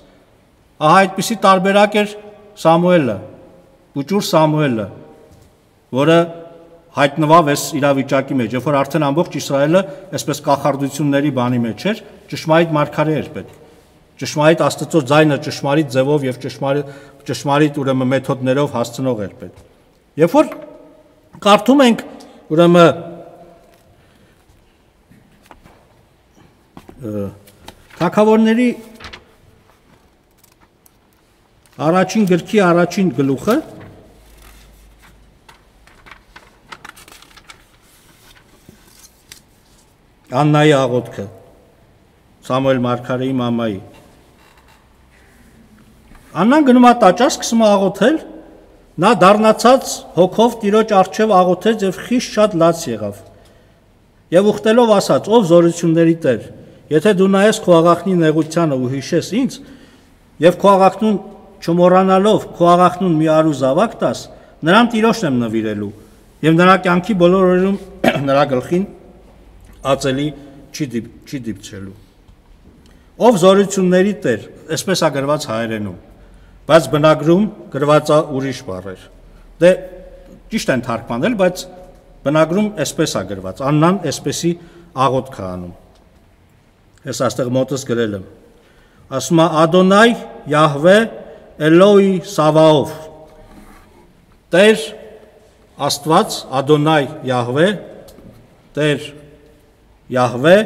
Ահա այդպիսի տարբերակ էր Սամուելը, Ուճուր Սամուելը, որը հայտնվավ այս իրավիճակի մեջ, երբ որ արդեն ամբողջ Իսրայելը այսպես կախարդությունների բանի մեջ էր, ճշմարիտ մարգարե էր պետք։ Ճշմարիտ Աստծո ձայնը ճշմարիտ ձևով եւ ճշմարիտ ուրեմն մեթոդներով հասցնող էր պետք։ Երբ որ կարդում ենք ուրեմն Թագավորների առաջին գրքի առաջին գլուխը Աննայի աղոթքը, Սամուել մարգարեի մամայի։ Աննան գնում է տաճար, սկսում է աղոթել, նա դառնացած հոգով Տիրոջ առջև աղոթեց եւ խիստ շատ լաց եղավ։ Եվ ուխտելով ասաց. «Ով զորությունների Տեր, եթե դու նայես քո աղախնի նեղությանը ու հիշես ինձ, եւ քո աղախնուն չմոռանալով քո աղախնուն մի արու զավակ տաս, նրան Տիրոջն եմ նվիրելու, եւ նրա կյանքի բոլոր օրերում նրա գլխին ածելի չի դիպչելու»։ Ով զորությունների Տեր, այսպես է գրված հայերենում, բայց բնագրում գրված է ուրիշ բառեր։ Դե ճիշտ են թարգմանել, բայց բնագրում այսպես է գրված։ Աննան այսպեսի աղոթք է անում։ Ես այստեղ մոտս գրել եմ։ Ասում է Ադոնայ Յահվե Էլոհի Սավաոֆ։ Տեր Աստված, Ադոնայ Յահվե, Տեր Յահվե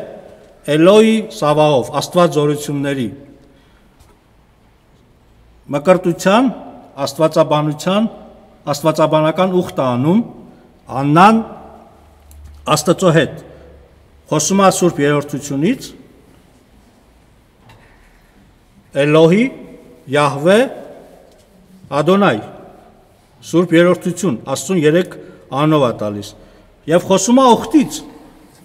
Էլոհի Սավաոֆ, Աստված զորությունների։ Մկրտության, աստվածաբանության, աստվածաբանական ուխտ անում Աննան Աստծո հետ խոսում է Սուրբ Երրորդությունից Էլոհի, Յահվե, Ադոնայ, Սուրբ Երրորդություն, Աստծուն 3 անով է տալիս։ Եվ խոսում է ուխտից,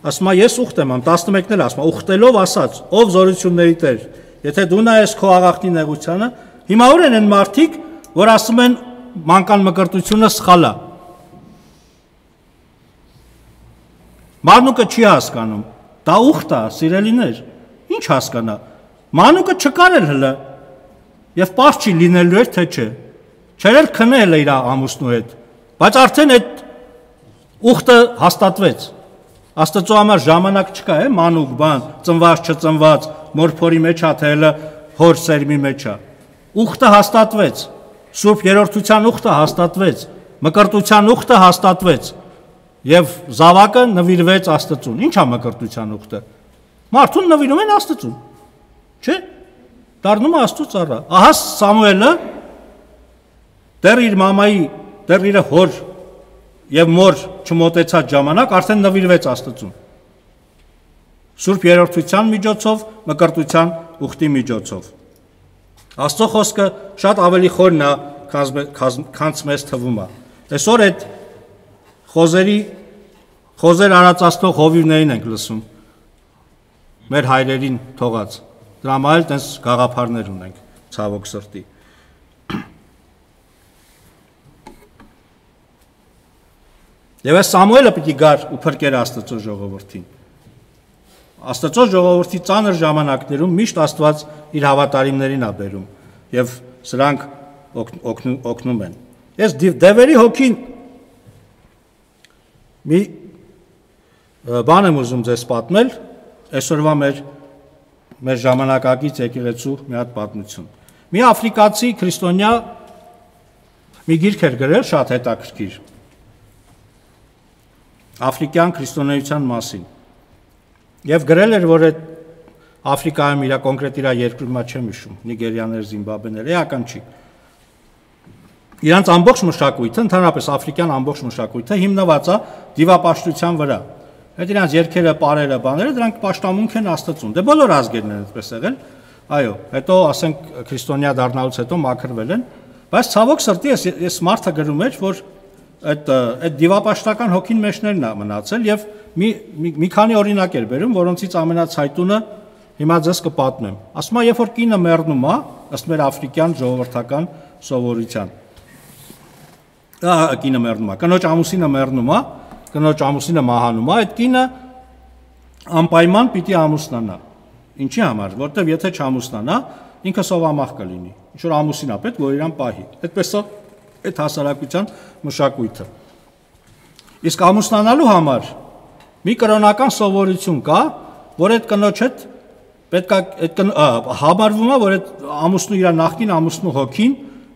ասում է ես ուխտ եմ, 11-ն էլ ասում է, ուխտելով ասաց, ով զորությունների Տեր, եթե դու նայես քո աղախնի նեղությանը, հիմա ուր են մարդիկ, որ ասում են մանկան մկրտությունը սխալ է։ Մանուկը չի հասկանում, դա ուխտ է, սիրելիներ, ինչ հասկանա։ Մանուկը չկարել հլը, եւ պարզ չի լինելու էր, թե չէ։ Չէր էլ քնել իր ամուսնու հետ, բայց արդեն այդ ուխտը հաստատվեց։ Աստծո համար ժամանակ չկա, մանուկ բան, ծնված չծնված, մորփորի մեջ է, թե հələ հոր սերմի մեջ է։ Ուխտը հաստատվեց, Սուրբ Երրորդության ուխտը հաստատվեց, մկրտության ուխտը հաստատվեց, եւ զավակը նվիրվեց Աստծուն։ Ինչ է մկրտության ուխտը։ Մարդուն նվիրում են Աստծուն, չէ՞։ Դառնում է Աստծո ծառա։ Ահա Սամուելը դեռ իր մամայի, դեռ իր հոր եւ մոր չմոտեցած ժամանակ արդեն նվիրվեց Աստծուն։ Սուրբ Երրորդության միջոցով, մկրտության ուխտի միջոցով։ Աստծո խոսքը շատ ավելի խորն է, քան մեզ թվում է։ Այսօր այդ խոզեր արածածնող հովիվներին ենք լսում, մեր հայրերին թողած, դրա համար էլ տենց գաղափարներ ունենք, ցավոք սրտի։ Եվ այս Սամուելը պիտի գար ու փրկեր Աստծո ժողովրդին։ Աստծո ժողովրդի ծանր ժամանակներում միշտ Աստված իր հավատարիմներին է բերում եւ սրանք օգնում են։ Ես դևերի հոգին մի բան եմ ուզում ձեզ պատմել, այսօրվա մեր ժամանակակից եկեղեցու մի հատ պատմություն։ Մի աֆրիկացի քրիստոնյա մի գիրք էր գրել շատ հետաքրքիր Աֆրիկյան քրիստոնեության մասին։ Եվ գրել էր, որ այդ Աֆրիկայում իր կոնկրետ իր երկրում չեմ հիշում, Նիգերիաներ, Զիմբաբվեներ, էական չի։ Իրանց ամբողջ մշակույթը, ընդհանրապես աֆրիկյան ամբողջ մշակույթը հիմնված է դիվապաշտության վրա։ Այդ իրանց երգերը, պարերը, բաները, դրանք պաշտամունք են Աստծուն։ Դե բոլոր ազգերն են այդպես եղել։ Այո, հետո ասենք քրիստոնյա դառնալուց հետո մաքրվել են, բայց ցավոք սրտի ես մարդը գրում էր, որ այդ դիվապաշտական հոգին մեջներն է մնացել եւ մի քանի օրինակ էր բերում, որոնցից ամենացայտունը հիմա ձեզ կպատմեմ։ Ասում է, երբ որ կինը մեռնում է, ըստ մեր աֆրիկյան ժողովրդական սովորության։ Կինը մեռնում է, կնոջ ամուսինը մեռնում է, կնոջ ամուսինը մահանում է, այդ կինը անպայման պիտի ամուսնանա։ Ինչի համար, որտեվ եթե չամուսնանա, ինքը սովամահ կլինի։ Ինչ որ ամուսին է պետք, որ իրան պահի։ Այդպես է այդ հասարակության մշակույթը։ Իսկ ամուսնանալու համար մի կրոնական սովորություն կա, որ այդ կնոջ հետ պետք է համարվում է, որ այդ ամուսնու իր նախկին ամուսնու հոգին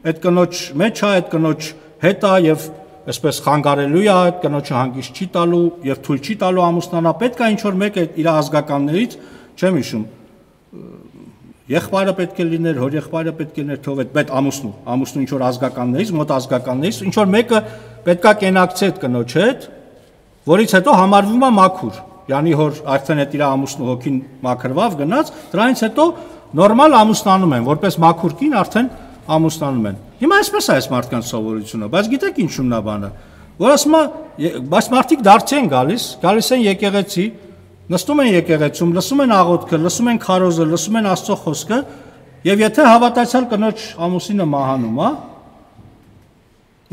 այդ կնոջ մեջ է, այդ կնոջ հետ է եւ այսպես խանգարելու է, այդ կնոջը հանգիստ չի տալու եւ թույլ չի տալու ամուսնանա, պետք է ինչ որ մեկը իր ազգականներից, չեմ հիշում, եղբայրը պետք է լիներ, հոր եղբայրը պետք է լիներ, թող այդ ամուսնու ինչ որ ազգականներից, մոտ ազգականներից, ինչ որ մեկը պետք է կենակցի այդ կնոջ հետ, որից հետո համարվում է մաքուր։ Յանի հոր արդեն այդ իր ամուսնու հոգին մաքրվավ գնաց, դրանից հետո նորմալ ամուսնանում են, որպես մաքուր կին արդեն ամուսնանում են։ Հիմա այսպես է այս մարդկանց սովորությունը, բայց գիտեք ինչու՞մն է բանը, որ ասում է, բայց մարդիկ դարձի են գալիս են եկեղեցի, նստում են եկեղեցում, լսում են աղոթքը, լսում են քարոզը, լսում են Աստծո խոսքը, եւ եթե հավատացյալ կնոջ ամուսինը մահանում է,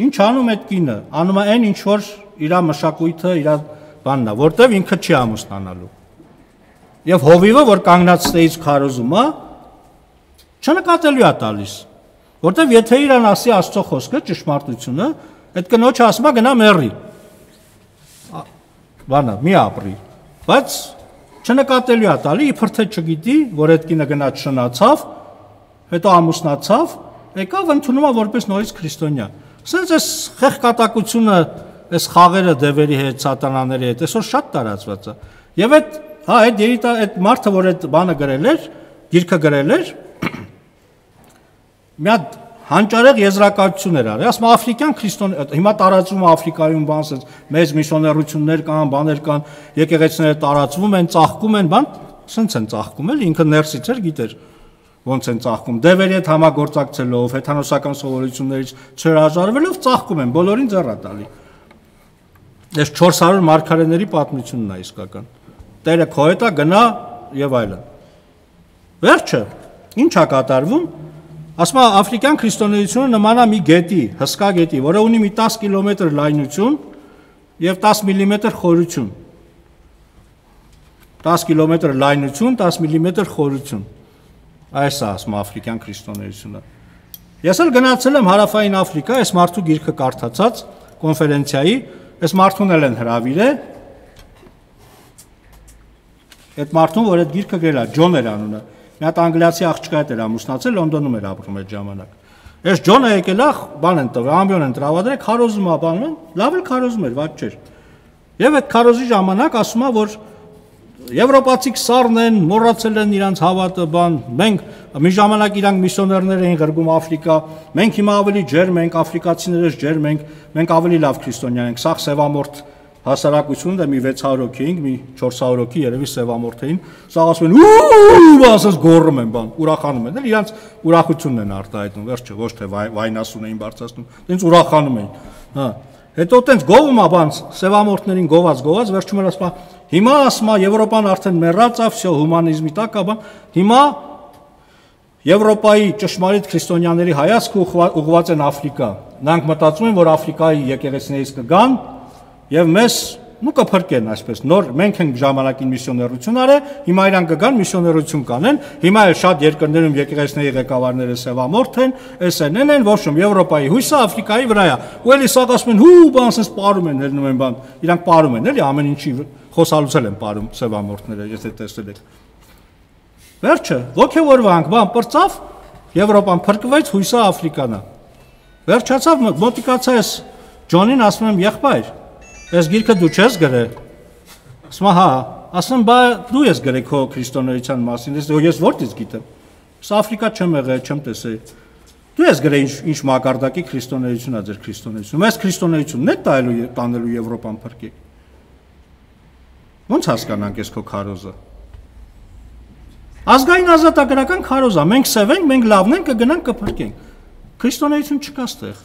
ինչ անում այդ կինը, անում է այն ինչ որ իր մշակույթը, իր բանն է, որտեվ ինքը չի ամուսնանալու։ Եվ հովիվը, որ կանգնած ստեից քարոզում է, չնկատելու է տալիս, որտեվ եթե իրան ասի Աստծո խոսքը, ճշմարտությունը, այդ կնոջը ասում է գնա մեռի։ Բանա, մի ապրի։ Բայց չնկատելու է տալի, իբր թե չգիտի, որ այդ կինը գնաց շնացավ, հետո ամուսնացավ, եկավ ընդունում է որպես նորից քրիստոնյա։ Սենց այս խեղկատակությունը, այս խաղերը դևերի հետ, սատանաների հետ, այսօր շատ տարածված է։ Եվ այդ մարդը, որ այդ բանը գրել էր, գիրքը գրել էր, մի հատ հանճարեղ եզրակացություն էր արել, ասում աֆրիկյան քրիստոն, հիմա տարածվում է Աֆրիկայում բան, ասես մեծ միսիոներություններ կան, բաներ կան, եկեղեցիները տարածվում են, ծաղկում են, բան, սենց են ծաղկում, էլի ինքը ներսից էր գիտեր ոնց են ծաղկում, դևերի հետ համագործակցելով, հեթանոսական սովորություններից չհրաժարվելով ծաղկում են, բոլորին ձեռա տալի։ Այս 400 մարգարեների պատմությունն է իսկական։ Տերը քո հետ է, գնա եւ այլն։ Վերջը ի՞նչ է կատարվում։ Ասում է աֆրիկյան քրիստոնեությունը նման է մի գետի, հսկա գետի, որը ունի մի 10 կիլոմետր լայնություն եւ 10 մմ խորություն։ 10 կիլոմետր լայնություն, 10 մմ խորություն։ Այս է ասում աֆրիկյան քրիստոնեությունը։ Ես էլ գնացել եմ հարավային Աֆրիկա, այս մարդու գիրքը կարդացած կոնֆերենցիայի, այս մարդուն էլ են հրավիրել։ Այդ մարդուն, որ այդ գիրքը գրել է, Ջոն էր անունը։ Մի հատ անգլիացի աղջկա հետ էր ամուսնացել, Լոնդոնում էր ապրում այդ ժամանակ։ Այս Ջոնը եկել է, բան են տվել, ամբիոն են տրավադրել, քարոզում է, բանում են, լավ էլ քարոզում էր, ված չէր։ Եվ այդ քարոզի ժամանակ ասում է, որ եվրոպացի սառն են, մոռացել են իրանց հավատը, բան, մենք մի ժամանակ իրանք միսիոներներ էին ղրգում Աֆրիկա, մենք հիմա ավելի ջերմ ենք, աֆրիկացիներս ջերմ ենք, մենք ավելի լավ քրիստոնյա ենք, սաղ սևամորթ հասարակությունն է մի 600 հոգի էինք, մի 400 հոգի երևի սևամորթ էին, սաղ ասում են ու ասես գոռում են, բան, ուրախանում են, իրանց ուրախությունն են արտահայտում, վերջը ոչ թե վայնասուն էին բարձրացնում, դենց ուրախանում էին, հա։ Հետո տենց գովում է բան, սևամորթներին գոված, վերջում էր ասում, հիմա ասում է Եվրոպան արդեն մեռած է, վсё հումանիզմի տակ է, հիմա Եվրոպայի ճշմարիտ քրիստոնյաների հայացքը ուղղված են Աֆրիկա։ Նրանք մտածում են, որ Աֆրիկայի եկեղեցիներից կգան եւ մեզ կփրկեն այսպես նոր մենք ենք ժամանակին միսիոներություն արել, հիմա իրանք կգան միսիոներություն կանեն, հիմա էլ շատ երկրներում եկեղեցիների ղեկավարները սևամորթ են, SNN են, ոչմ Եվրոպայի հույսը Աֆրիկայի վրա է։ Ու էլի սա ասում են, հու բան ասես պարում են, ելնում են բան, իրանք պարում են, էլի ամեն ինչի խոսալուցել են պարում սևամորթները, եթե տեսել եք։ Վերջը, ոգևորվանք, բան պրծավ, Եվրոպան փրկվեց, հույսը Աֆրիկան է։ Վերջացավ, մոտիկացա ես Ջոնին ասում եմ, եղբայր, այս գիրքը դու չես գրել։ Ասում հա, ասում բա դու ես գրել քո քրիստոնեության մասին, ես որտից գիտեմ։ Սա Աֆրիկա չեմ եղել, չեմ տեսել։ Դու ես գրել ինչ մակարդակի քրիստոնեություն է ձեր քրիստոնեությունը։ Այս քրիստոնեությունն է տանելու Եվրոպան փրկի։ Ոնց հասկանանք ես քո քարոզը։ Ազգային ազատագրական քարոզ է, մենք սև ենք, մենք լավն ենք, կգնանք կփրկենք։ Քրիստոնեություն չկա ստեղ։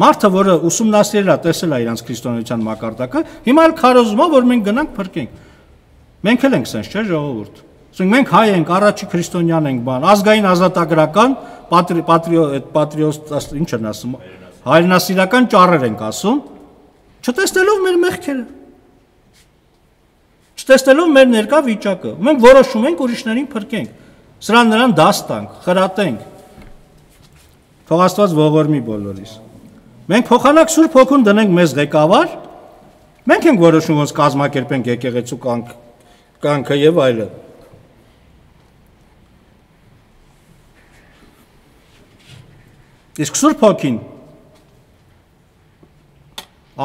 Մարդը, որը ուսումնասիրել է, տեսել է իրանց քրիստոնեության մակարդակը, հիմա էլ քարոզում է, որ մենք գնանք փրկենք։ Մենք էլ ենք սենց, չէ՞ ժողովուրդ։ Ասենք մենք հայ ենք, առաջի քրիստոնյան ենք, բան, ազգային ազատագրական, պատրիոտ, ինչ են ասում, հայրենասիրական ճառեր ենք ասում, չտեսնելով մեր մեղքերը։ Չտեսնելով մեր ներկա վիճակը, մենք որոշում ենք ուրիշներին փրկենք, սրան նրան դաս տանք, խրատենք։ Թող Աստված ողորմի բոլորիս։ Մենք փոխանակ Սուրբ Հոգուն դնենք մեզ ղեկավար, մենք ենք որոշում ոնց կազմակերպենք եկեղեցու կյանքը եւ այլն։ Իսկ Սուրբ Հոգին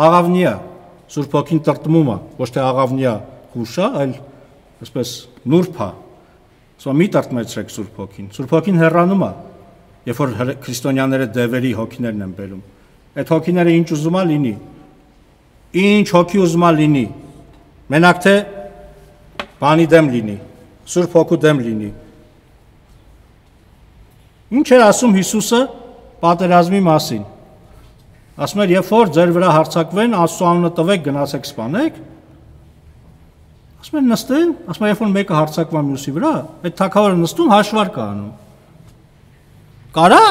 աղավնի է, Սուրբ Հոգին տրտմում է, ոչ թե աղավնի է հուշա, այլ այսպես նուրբ է։ Սա մի տրտմեցրեք Սուրբ Հոգին։ Սուրբ Հոգին հեռանում է, երբ որ քրիստոնյաները դևերի հոգիներն են բերում։ Այդ հոգիները ինչ ուզում է լինի, ինչ հոգի ուզում է լինի, մենակ թե բանի դեմ լինի, Սուրբ Հոգու դեմ լինի։ Ինչ էր ասում Հիսուսը պատերազմի մասին։ Ասում էր, երբ որ ձեր վրա հարձակվեն, Աստծո անունը տվեք, գնացեք սպանեք։ Ասում էր նստեն, ասում է, երբ որ մեկը հարձակվում է մյուսի վրա, այդ թագավորը նստում հաշվարկ է անում։ Կարա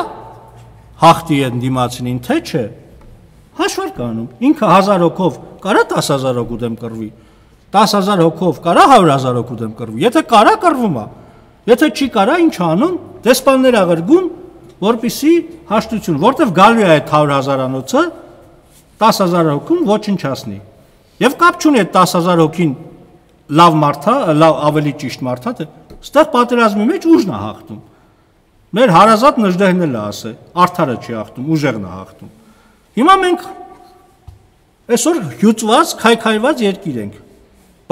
հաղթի են դիմացին, թե չէ, հաշվարկ անում, ինքը 1000 հոգով կարա 10,000 հոգու դեմ կռվի, 10,000 հոգով կարա 100,000 հոգու դեմ կռվի, եթե կարա կռվում է, եթե չի կարա ինչ անում, դեսպաններ աղրգում, որպիսի հաշտություն, որտեվ գալու է այդ 100,000-անոցը 10,000 հոգուն ոչնչացնի, և կապ չունի այդ 10,000 հոգին լավ մարդ է, լավ ավելի ճիշտ մարդ է, ստեղ պատերազմի մեջ ուժն է հաղթում, մեր հարազատ Նժդեհն էլ է ասել, արդարը չի հաղթում, ուժեղն է հաղթում։ Հիմա մենք այսօր հյուծված, քայքայված երկիր ենք,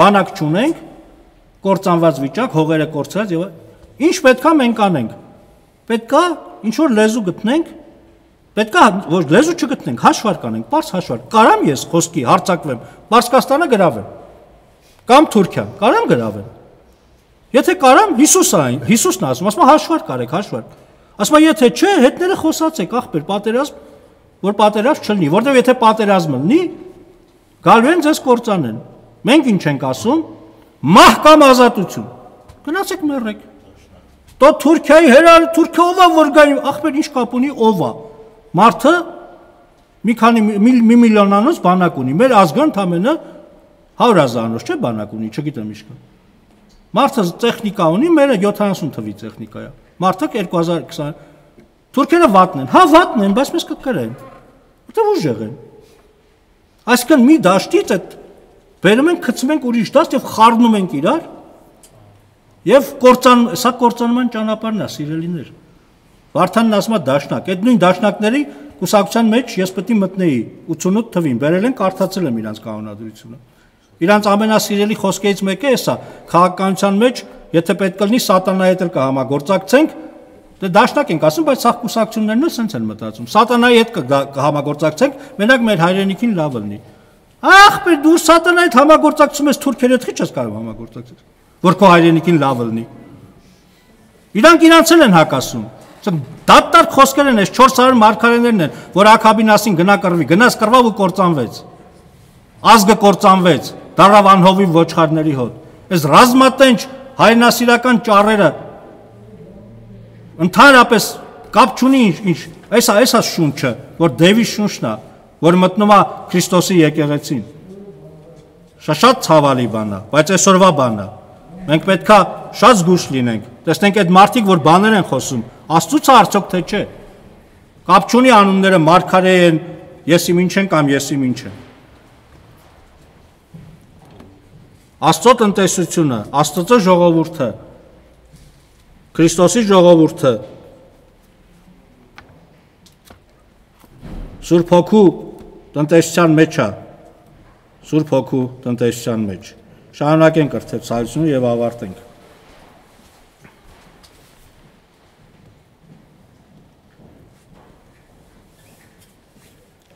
բանակ չունենք, կործանված վիճակ, հողերը կորցրած եւ ինչ պետքա մենք անենք։ Պետքա ինչ որ լեզու գտնենք, պետքա ոչ լեզու չգտնենք, հաշվարկ անենք, բարձ հաշվարկ։ Կարամ ես խոսքի հարձակվեմ, Պարսկաստանը գրավեմ։ Կամ Թուրքիան, կարամ գրավեմ։ Եթե կարամ Հիսուսն ասում հաշվարկ արեք, հաշվարկ։ Ասում եթե չէ, հետները խոսացեք, ախպեր, պատերազմ, որ պատերազմ չլինի, որտեղ եթե պատերազմ լինի, գալու են ձեզ կործանեն։ Մենք ինչ ենք ասում, մահ կամ ազատություն։ Գնացեք մեռեք։ Դո Թուրքիայի հերար, Թուրքիա ով է որ գային, ախպեր ինչ կապ ունի ով է։ Մարդը մի քանի մի միլիոնանոց բանակ ունի, մեր ազգը ընդամենը 100,000-անոց չէ բանակ ունի, չգիտեմ ինչ կա։ Մարդը տեխնիկա ունի, մերը 70 թվի տեխնիկա է։ Մարդը 2020 Թուրքերը վատն են, հա վատն են, բայց մեզ կկրեն։ Որտե ուժեղ են։ Այսինքն մի դաշտից այդ բերում ենք, գցում ենք ուրիշ դաշտ եւ խառնում ենք իրար։ Եվ սա կործանման ճանապարհն է, սիրելիներ։ Վարդանն ասում է դաշնակ, այդ նույն դաշնակների կուսակցության մեջ ես պետք է մտնեի 88 թվին, բերել են, կարդացել եմ իրանց կանոնադրությունը։ Իրանց ամենասիրելի խոսքերից մեկը է սա, քաղաքականության մեջ, եթե պետք կլինի սատանայի հետ էլ կհամագործակցենք, դե դաշնակ ենք ասում, բայց սաղ կուսակցություններն էլ սենց են մտածում։ Սատանայի հետ կհամագործակցենք, մենակ մեր հայրենիքին լավ լինի։ Ախպեր, դու սատանայի հետ համագործակցում ես թուրքերի հետ, ի՞նչ ես կարող համագործակցել, որ քո հայրենիքին լավ լինի։ Իրանք իրանց էլ են հակասում։ Դատարկ խոսքեր են, այս 400 մարգարեներն են, որ Աքաբինասին գնա կռվի, գնաց կռվավ ու կործանվեց։ Ազգը կործանվեց, դառավ անհովիվ ոչխարների հոտ։ Այս ռազմատենչ հայրենասիրական ճառերը ընդհանրապես կապ չունի ինչ, այսա շունչը, որ Դևի շունչն է, որ մտնում է Քրիստոսի եկեղեցին։ Շատ ցավալի բան է, բայց այսօրվա բան է։ Մենք պետքա շատ զգուշ լինենք։ Տեսնենք այդ մարդիկ, որ բաներ են խոսում, Աստծուց է արդյոք թե չէ։ Կապ չունի անունները մարգարե են, եսիմ ինչ են կամ եսիմ ինչ են։ Աստծո տնտեսությունը, Աստծո ժողովուրդը, Քրիստոսի ժողովուրդը Սուրբ Հոգու տնտեսության մեջ է, Սուրբ Հոգու տնտեսության մեջ։ Շարունակենք կրթեցայությունը եւ ավարտենք։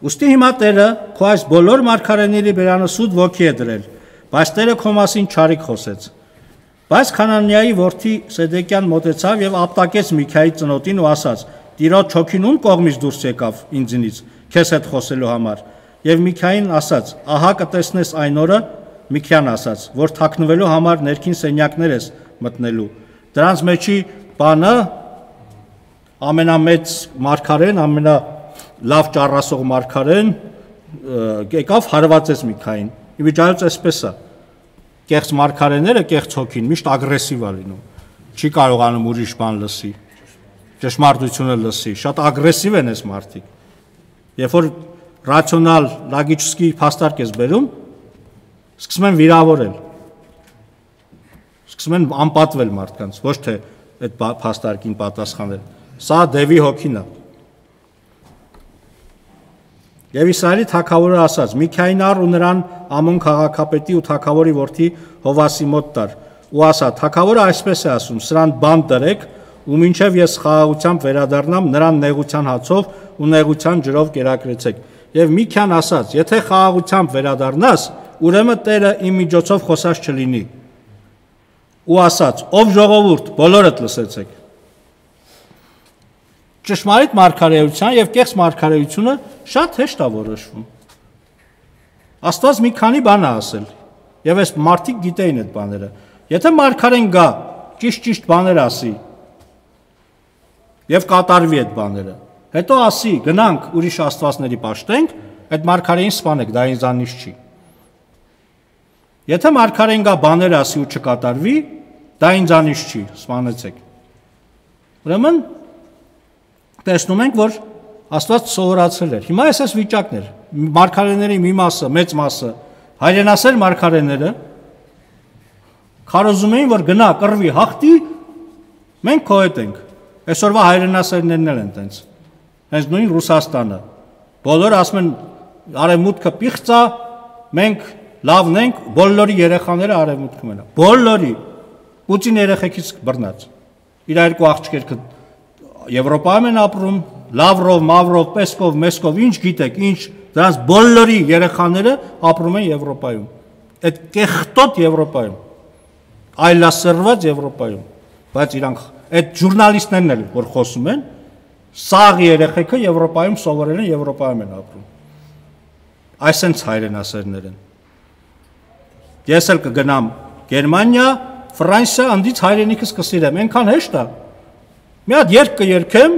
Ուստի հիմա Տերը քո այս բոլոր մարգարեների բերանը սուտ ոգի է դրել, բայց Տերը քո մասին չարիք խոսեց։ Բայց Խանանիայի որդի Սեդեկյան մոտեցավ եւ ապտակեց Միքայի ծնոտին ու ասաց. Տիրոջ հոգին ում կողմից դուրս եկավ ինձնից քեզ հետ խոսելու համար։ Եվ Միքային ասաց. Ահա կտեսնես այն օրը, Միքյան ասաց, որ թաքնվելու համար ներքին սենյակներ ես մտնելու։ Դրանց մեջի բանը ամենամեծ մարգարեն, ամենալավ ճառասող մարգարեն եկավ հարվածեց Միքային։ Իվիճայոց այսպես է։ Կեղծ մարգարեները, կեղծ հոգին միշտ ագրեսիվ է լինում։ Չի կարողանում ուրիշ բան լսի։ Ճշմարտությունը լսի, շատ ագրեսիվ են այս մարդիկ։ Երբ որ ռացիոնալ, լոգիչսկի փաստարկ ես բերում, սկսում են վիրավորել։ Սկսում են անպատվել մարդկանց, ոչ թե այդ փաստարկին պատասխանել։ Սա Դևի հոգին է։ Եվ Իսրայելի թագավորը ասաց. Միքային առ ու նրան Ամոն քաղաքապետի ու թագավորի որդի Հովասի մոտ տար։ Ու ասա. թագավորը այսպես է ասում. սրան բան դրեք, ու մինչև ես խաղաղությամբ վերադառնամ, նրան նեղության հացով ու նեղության ջրով կերակրեցեք։ Եվ Միքյան ասաց. եթե խաղաղությամբ վերադառնաս, ուրեմն Տերը իմ միջոցով խոսած չլինի։ Ու ասաց. ով ժողովուրդ, բոլորդ լսեցեք։ Ճշմարիտ մարգարեության եւ կեղծ մարգարեությունը շատ հեշտ է որոշվում։ Աստված մի քանի բան է ասել, եւ այս մարդիկ գիտեին այդ բաները։ Եթե մարգարեն գա, ճիշտ բաներ ասի, եւ կատարվի այդ բաները, հետո ասի, գնանք ուրիշ աստվածների պաշտենք, այդ մարգարեին սպանեք, դա ինձանից չի։ Եթե մարգարեն գա բաներ ասի ու չկատարվի, դա ինձանից չի, սպանեցեք։ Ուրեմն տեսնում ենք, որ Աստված սովորացրել էր։ Հիմա այս վիճակն էր։ Մարգարեների մի մասը, մեծ մասը, հայրենասեր մարգարեները քարոզում էին, որ գնա կռվի հաղթի, մենք քո հետ ենք։ Այսօրվա հայրենասերներն են տենց։ Հենց նույն Ռուսաստանը։ Բոլորը ասում են արևմուտքը պիղծ է, մենք լավն ենք, բոլորի երեխաները արևմուտքում են։ Բոլորի Պուտին երեխեքից բռնած։ Իր երկու աղջիկերը Եվրոպայում են ապրում, Լավրով, Մավրով, Պեսկով, Մեսկով, ինչ գիտեք, ինչ դրանց բոլորի երեխաները ապրում են Եվրոպայում։ Այդ կեղտոտ Եվրոպայում, այլասերված Եվրոպայում, բայց իրանք այդ ժուրնալիստներն են, որ խոսում են, սաղ երեխեքը Եվրոպայում սովորել են, Եվրոպայում են ապրում։ Այսենց հայրենասերներ են։ Ես էլ կգնամ Գերմանիա, Ֆրանսիա, անդից հայրենիքս կսիրեմ, այնքան հեշտ է։ Մի հատ երգ կերգեմ,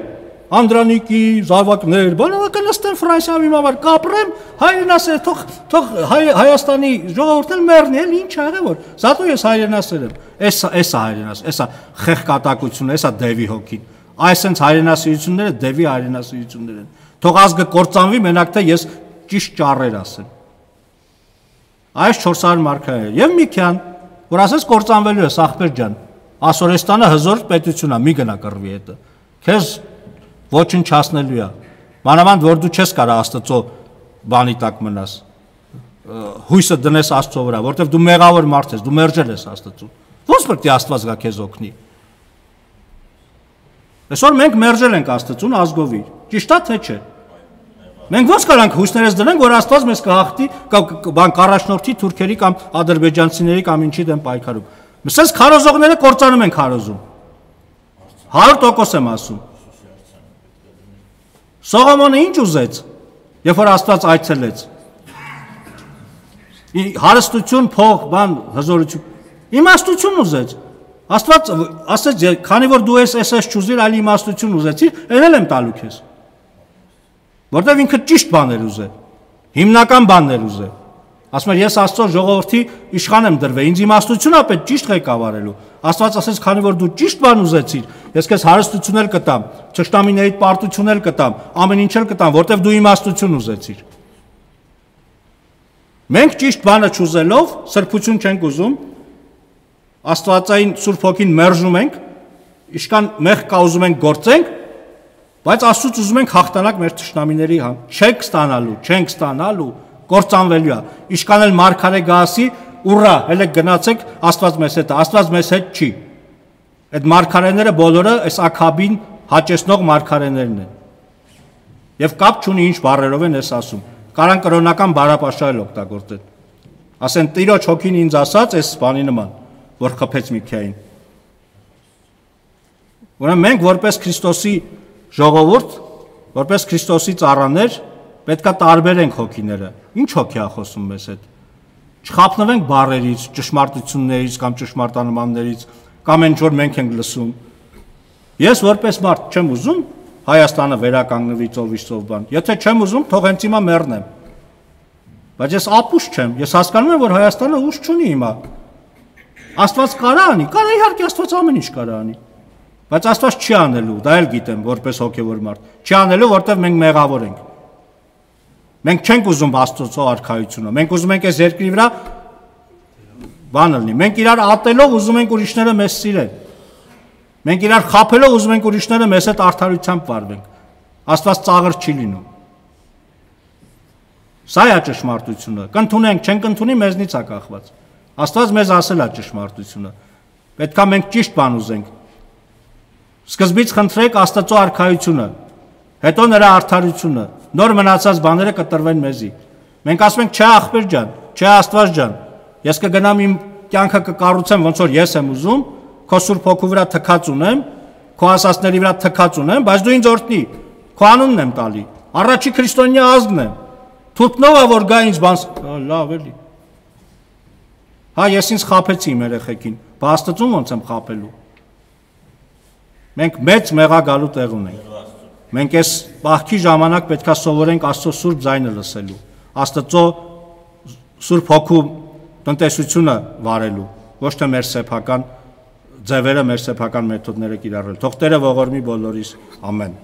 Անդրանիկի, զավակներ, բանը կնստեմ Ֆրանսիայում իմ համար կապրեմ, հայրենասեր, թող Հայաստանի ժողովուրդն մեռնի, էլ ինչ աղե որ, զատու ես հայրենասեր եմ։ Էսա հայրենասեր, էսա խեղկատակությունը, էսա Դևի հոգին։ Այսենց հայրենասիրությունները Դևի հայրենասիրություններ են։ Թող ազգը կործանվի, մենակ թե ես ճիշտ ճառեր ասեմ։ Այս 400 մարգարեներ եւ Միքյան, որ ասես կործանվելու է ախպեր ջան, Ասորեստանը հզոր պետություն է, մի գնա կռվի հետը։ Քեզ ոչնչացնելու է։ Մանավանդ որ դու չես կարող Աստծո բանի տակ մնաս։ Հույսը դնես Աստծո վրա, որտեվ դու մեղավոր մարդ ես, դու մերժել ես Աստծուն։ Ոնց պետք է Աստված գա քեզ օգնի։ Այսօր մենք մերժել ենք Աստծուն ազգովի։ Ճիշտ է թե չէ։ Մենք ոնց կարանք հույսներս դնենք, որ Աստված մեզ կհաղթի կամ կառաջնորդի թուրքերի կամ ադրբեջանցիների կամ ինչի դեմ պայքարում։ Մսես քարոզողները կործանում են քարոզում։ 100% եմ ասում։ Սողոմոնը ինչ ուզեց, երբ որ Աստված այցելեց։ Հարստություն, փող, բան, հզորություն, իմաստություն ուզեց։ Աստված ասեց, քանի որ դու ես չուզիր, այլ իմաստություն ուզեցիր, ելել եմ տալու քեզ։ Որտեվ ինքը ճիշտ բաներ ուզե, հիմնական բաներ ուզե։ Ասում էր, ես Աստծո ժողովրդի իշխան եմ դրվել, ինձ իմաստություն է պետք ճիշտ ղեկավարելու։ Աստված ասեց, քանի որ դու ճիշտ բան ուզեցիր, ես քեզ հարստություն էլ կտամ, թշնամիներիդ պարտություն էլ կտամ, ամեն ինչ էլ կտամ, որտեվ դու իմաստություն ուզեցիր։ Մենք ճիշտ բանը չուզելով սրբություն չենք ուզում, Աստվածային Սուրբ Հոգին մերժում ենք, իշքան մեղք կա ուզում ենք գործենք, բայց Աստծուց ուզում ենք հաղթանակ մեր թշնամիների չենք ստանալու, կործանվելու է։ Իշքան էլ մարգարե գասի, ուռա, հələ գնացեք, Աստված մեզ հետ է, Աստված մեզ հետ չի։ Այդ մարգարեները բոլորը այս ակաբին հաճեցնող մարգարեներն են։ Եվ կապ չունի ինչ բառերով են ես ասում։ Կարան կրոնական բարապաշարել օգտագործել։ Ասեն Տիրոջ հոգին ինձ ասաց այս բանի նման, որ խփեց Միքային։ Ուրեմն մենք որպես Քրիստոսի ժողովուրդ, որպես Քրիստոսի ծառաներ պետքա տարբերենք հոգիները։ Ինչ հոգի է խոսում մեզ հետ։ Չխափնվենք բառերից, ճշմարտություններից կամ ճշմարտանմաններից, կամ ինչ որ մենք ենք լսում։ Ես որպես մարդ չեմ ուզում Հայաստանը վերականգնվի ծովիշ բան։ Եթե չեմ ուզում, թող հենց հիմա մեռնեմ։ Բայց ես ապուշ չեմ, ես հասկանում եմ, որ Հայաստանը ուժ չունի հիմա։ Աստված կարա անի, կարա իհարկե Աստված ամեն ինչ կարա անի։ Բայց Աստված չի անելու, դա էլ գիտեմ, որպես հոգևոր մարդ։ Չի անելու, որտեղ մենք մեղավոր ենք։ Մենք չենք ուզում Աստծո արքայությունը։ Մենք ուզում ենք այս երկրի վրա բան լինի։ Մենք իրար ատելով ուզում ենք ուրիշները մեզ սիրեն։ Մենք իրար խափելով ուզում ենք ուրիշները մեզ հետ արդարությամբ վարվենք։ Աստված ծաղր չի լինում։ Սա է ճշմարտությունը։ Կընդունենք, չենք ընդունի, մեզնից է կախված։ Աստված մեզ ասել է ճշմարտությունը։ Պետքա մենք ճիշտ բան ուզենք։ Սկզբից խնդրեք Աստծո արքայությունը, հետո նրա արդարությունը, նոր մնացած բաները կտրվեն մեզի։ Մենք ասում ենք, չէ ախպեր ջան, չէ Աստված ջան, ես կգնամ իմ կյանքը կկառուցեմ ոնց որ ես եմ ուզում, քո Սուրբ Հոգու վրա թքած ունեմ, քո ասածների վրա թքած ունեմ, բայց դու ինձ օրհնի, քո անունն եմ տալի, առաջի քրիստոնյա ազգն եմ, թուրքնովա որ գա ինձ բան, լավ էլի։ Հա ես ինձ խափեցի իմ երեխեքին, բա Աստծուն ոնց եմ խափելու։ Մենք մեծ մեղագալու տեղ ունենք։ Մենք այս պահքի ժամանակ պետքա սովորենք Աստծո Սուրբ ձայնը լսելու, Աստծո Սուրբ Հոգու տնտեսությունը վարելու, ոչ թե մեր սեփական ձևերը, մեր սեփական մեթոդները կիրառել։ Թող Տերը ողորմի բոլորիս, ամեն։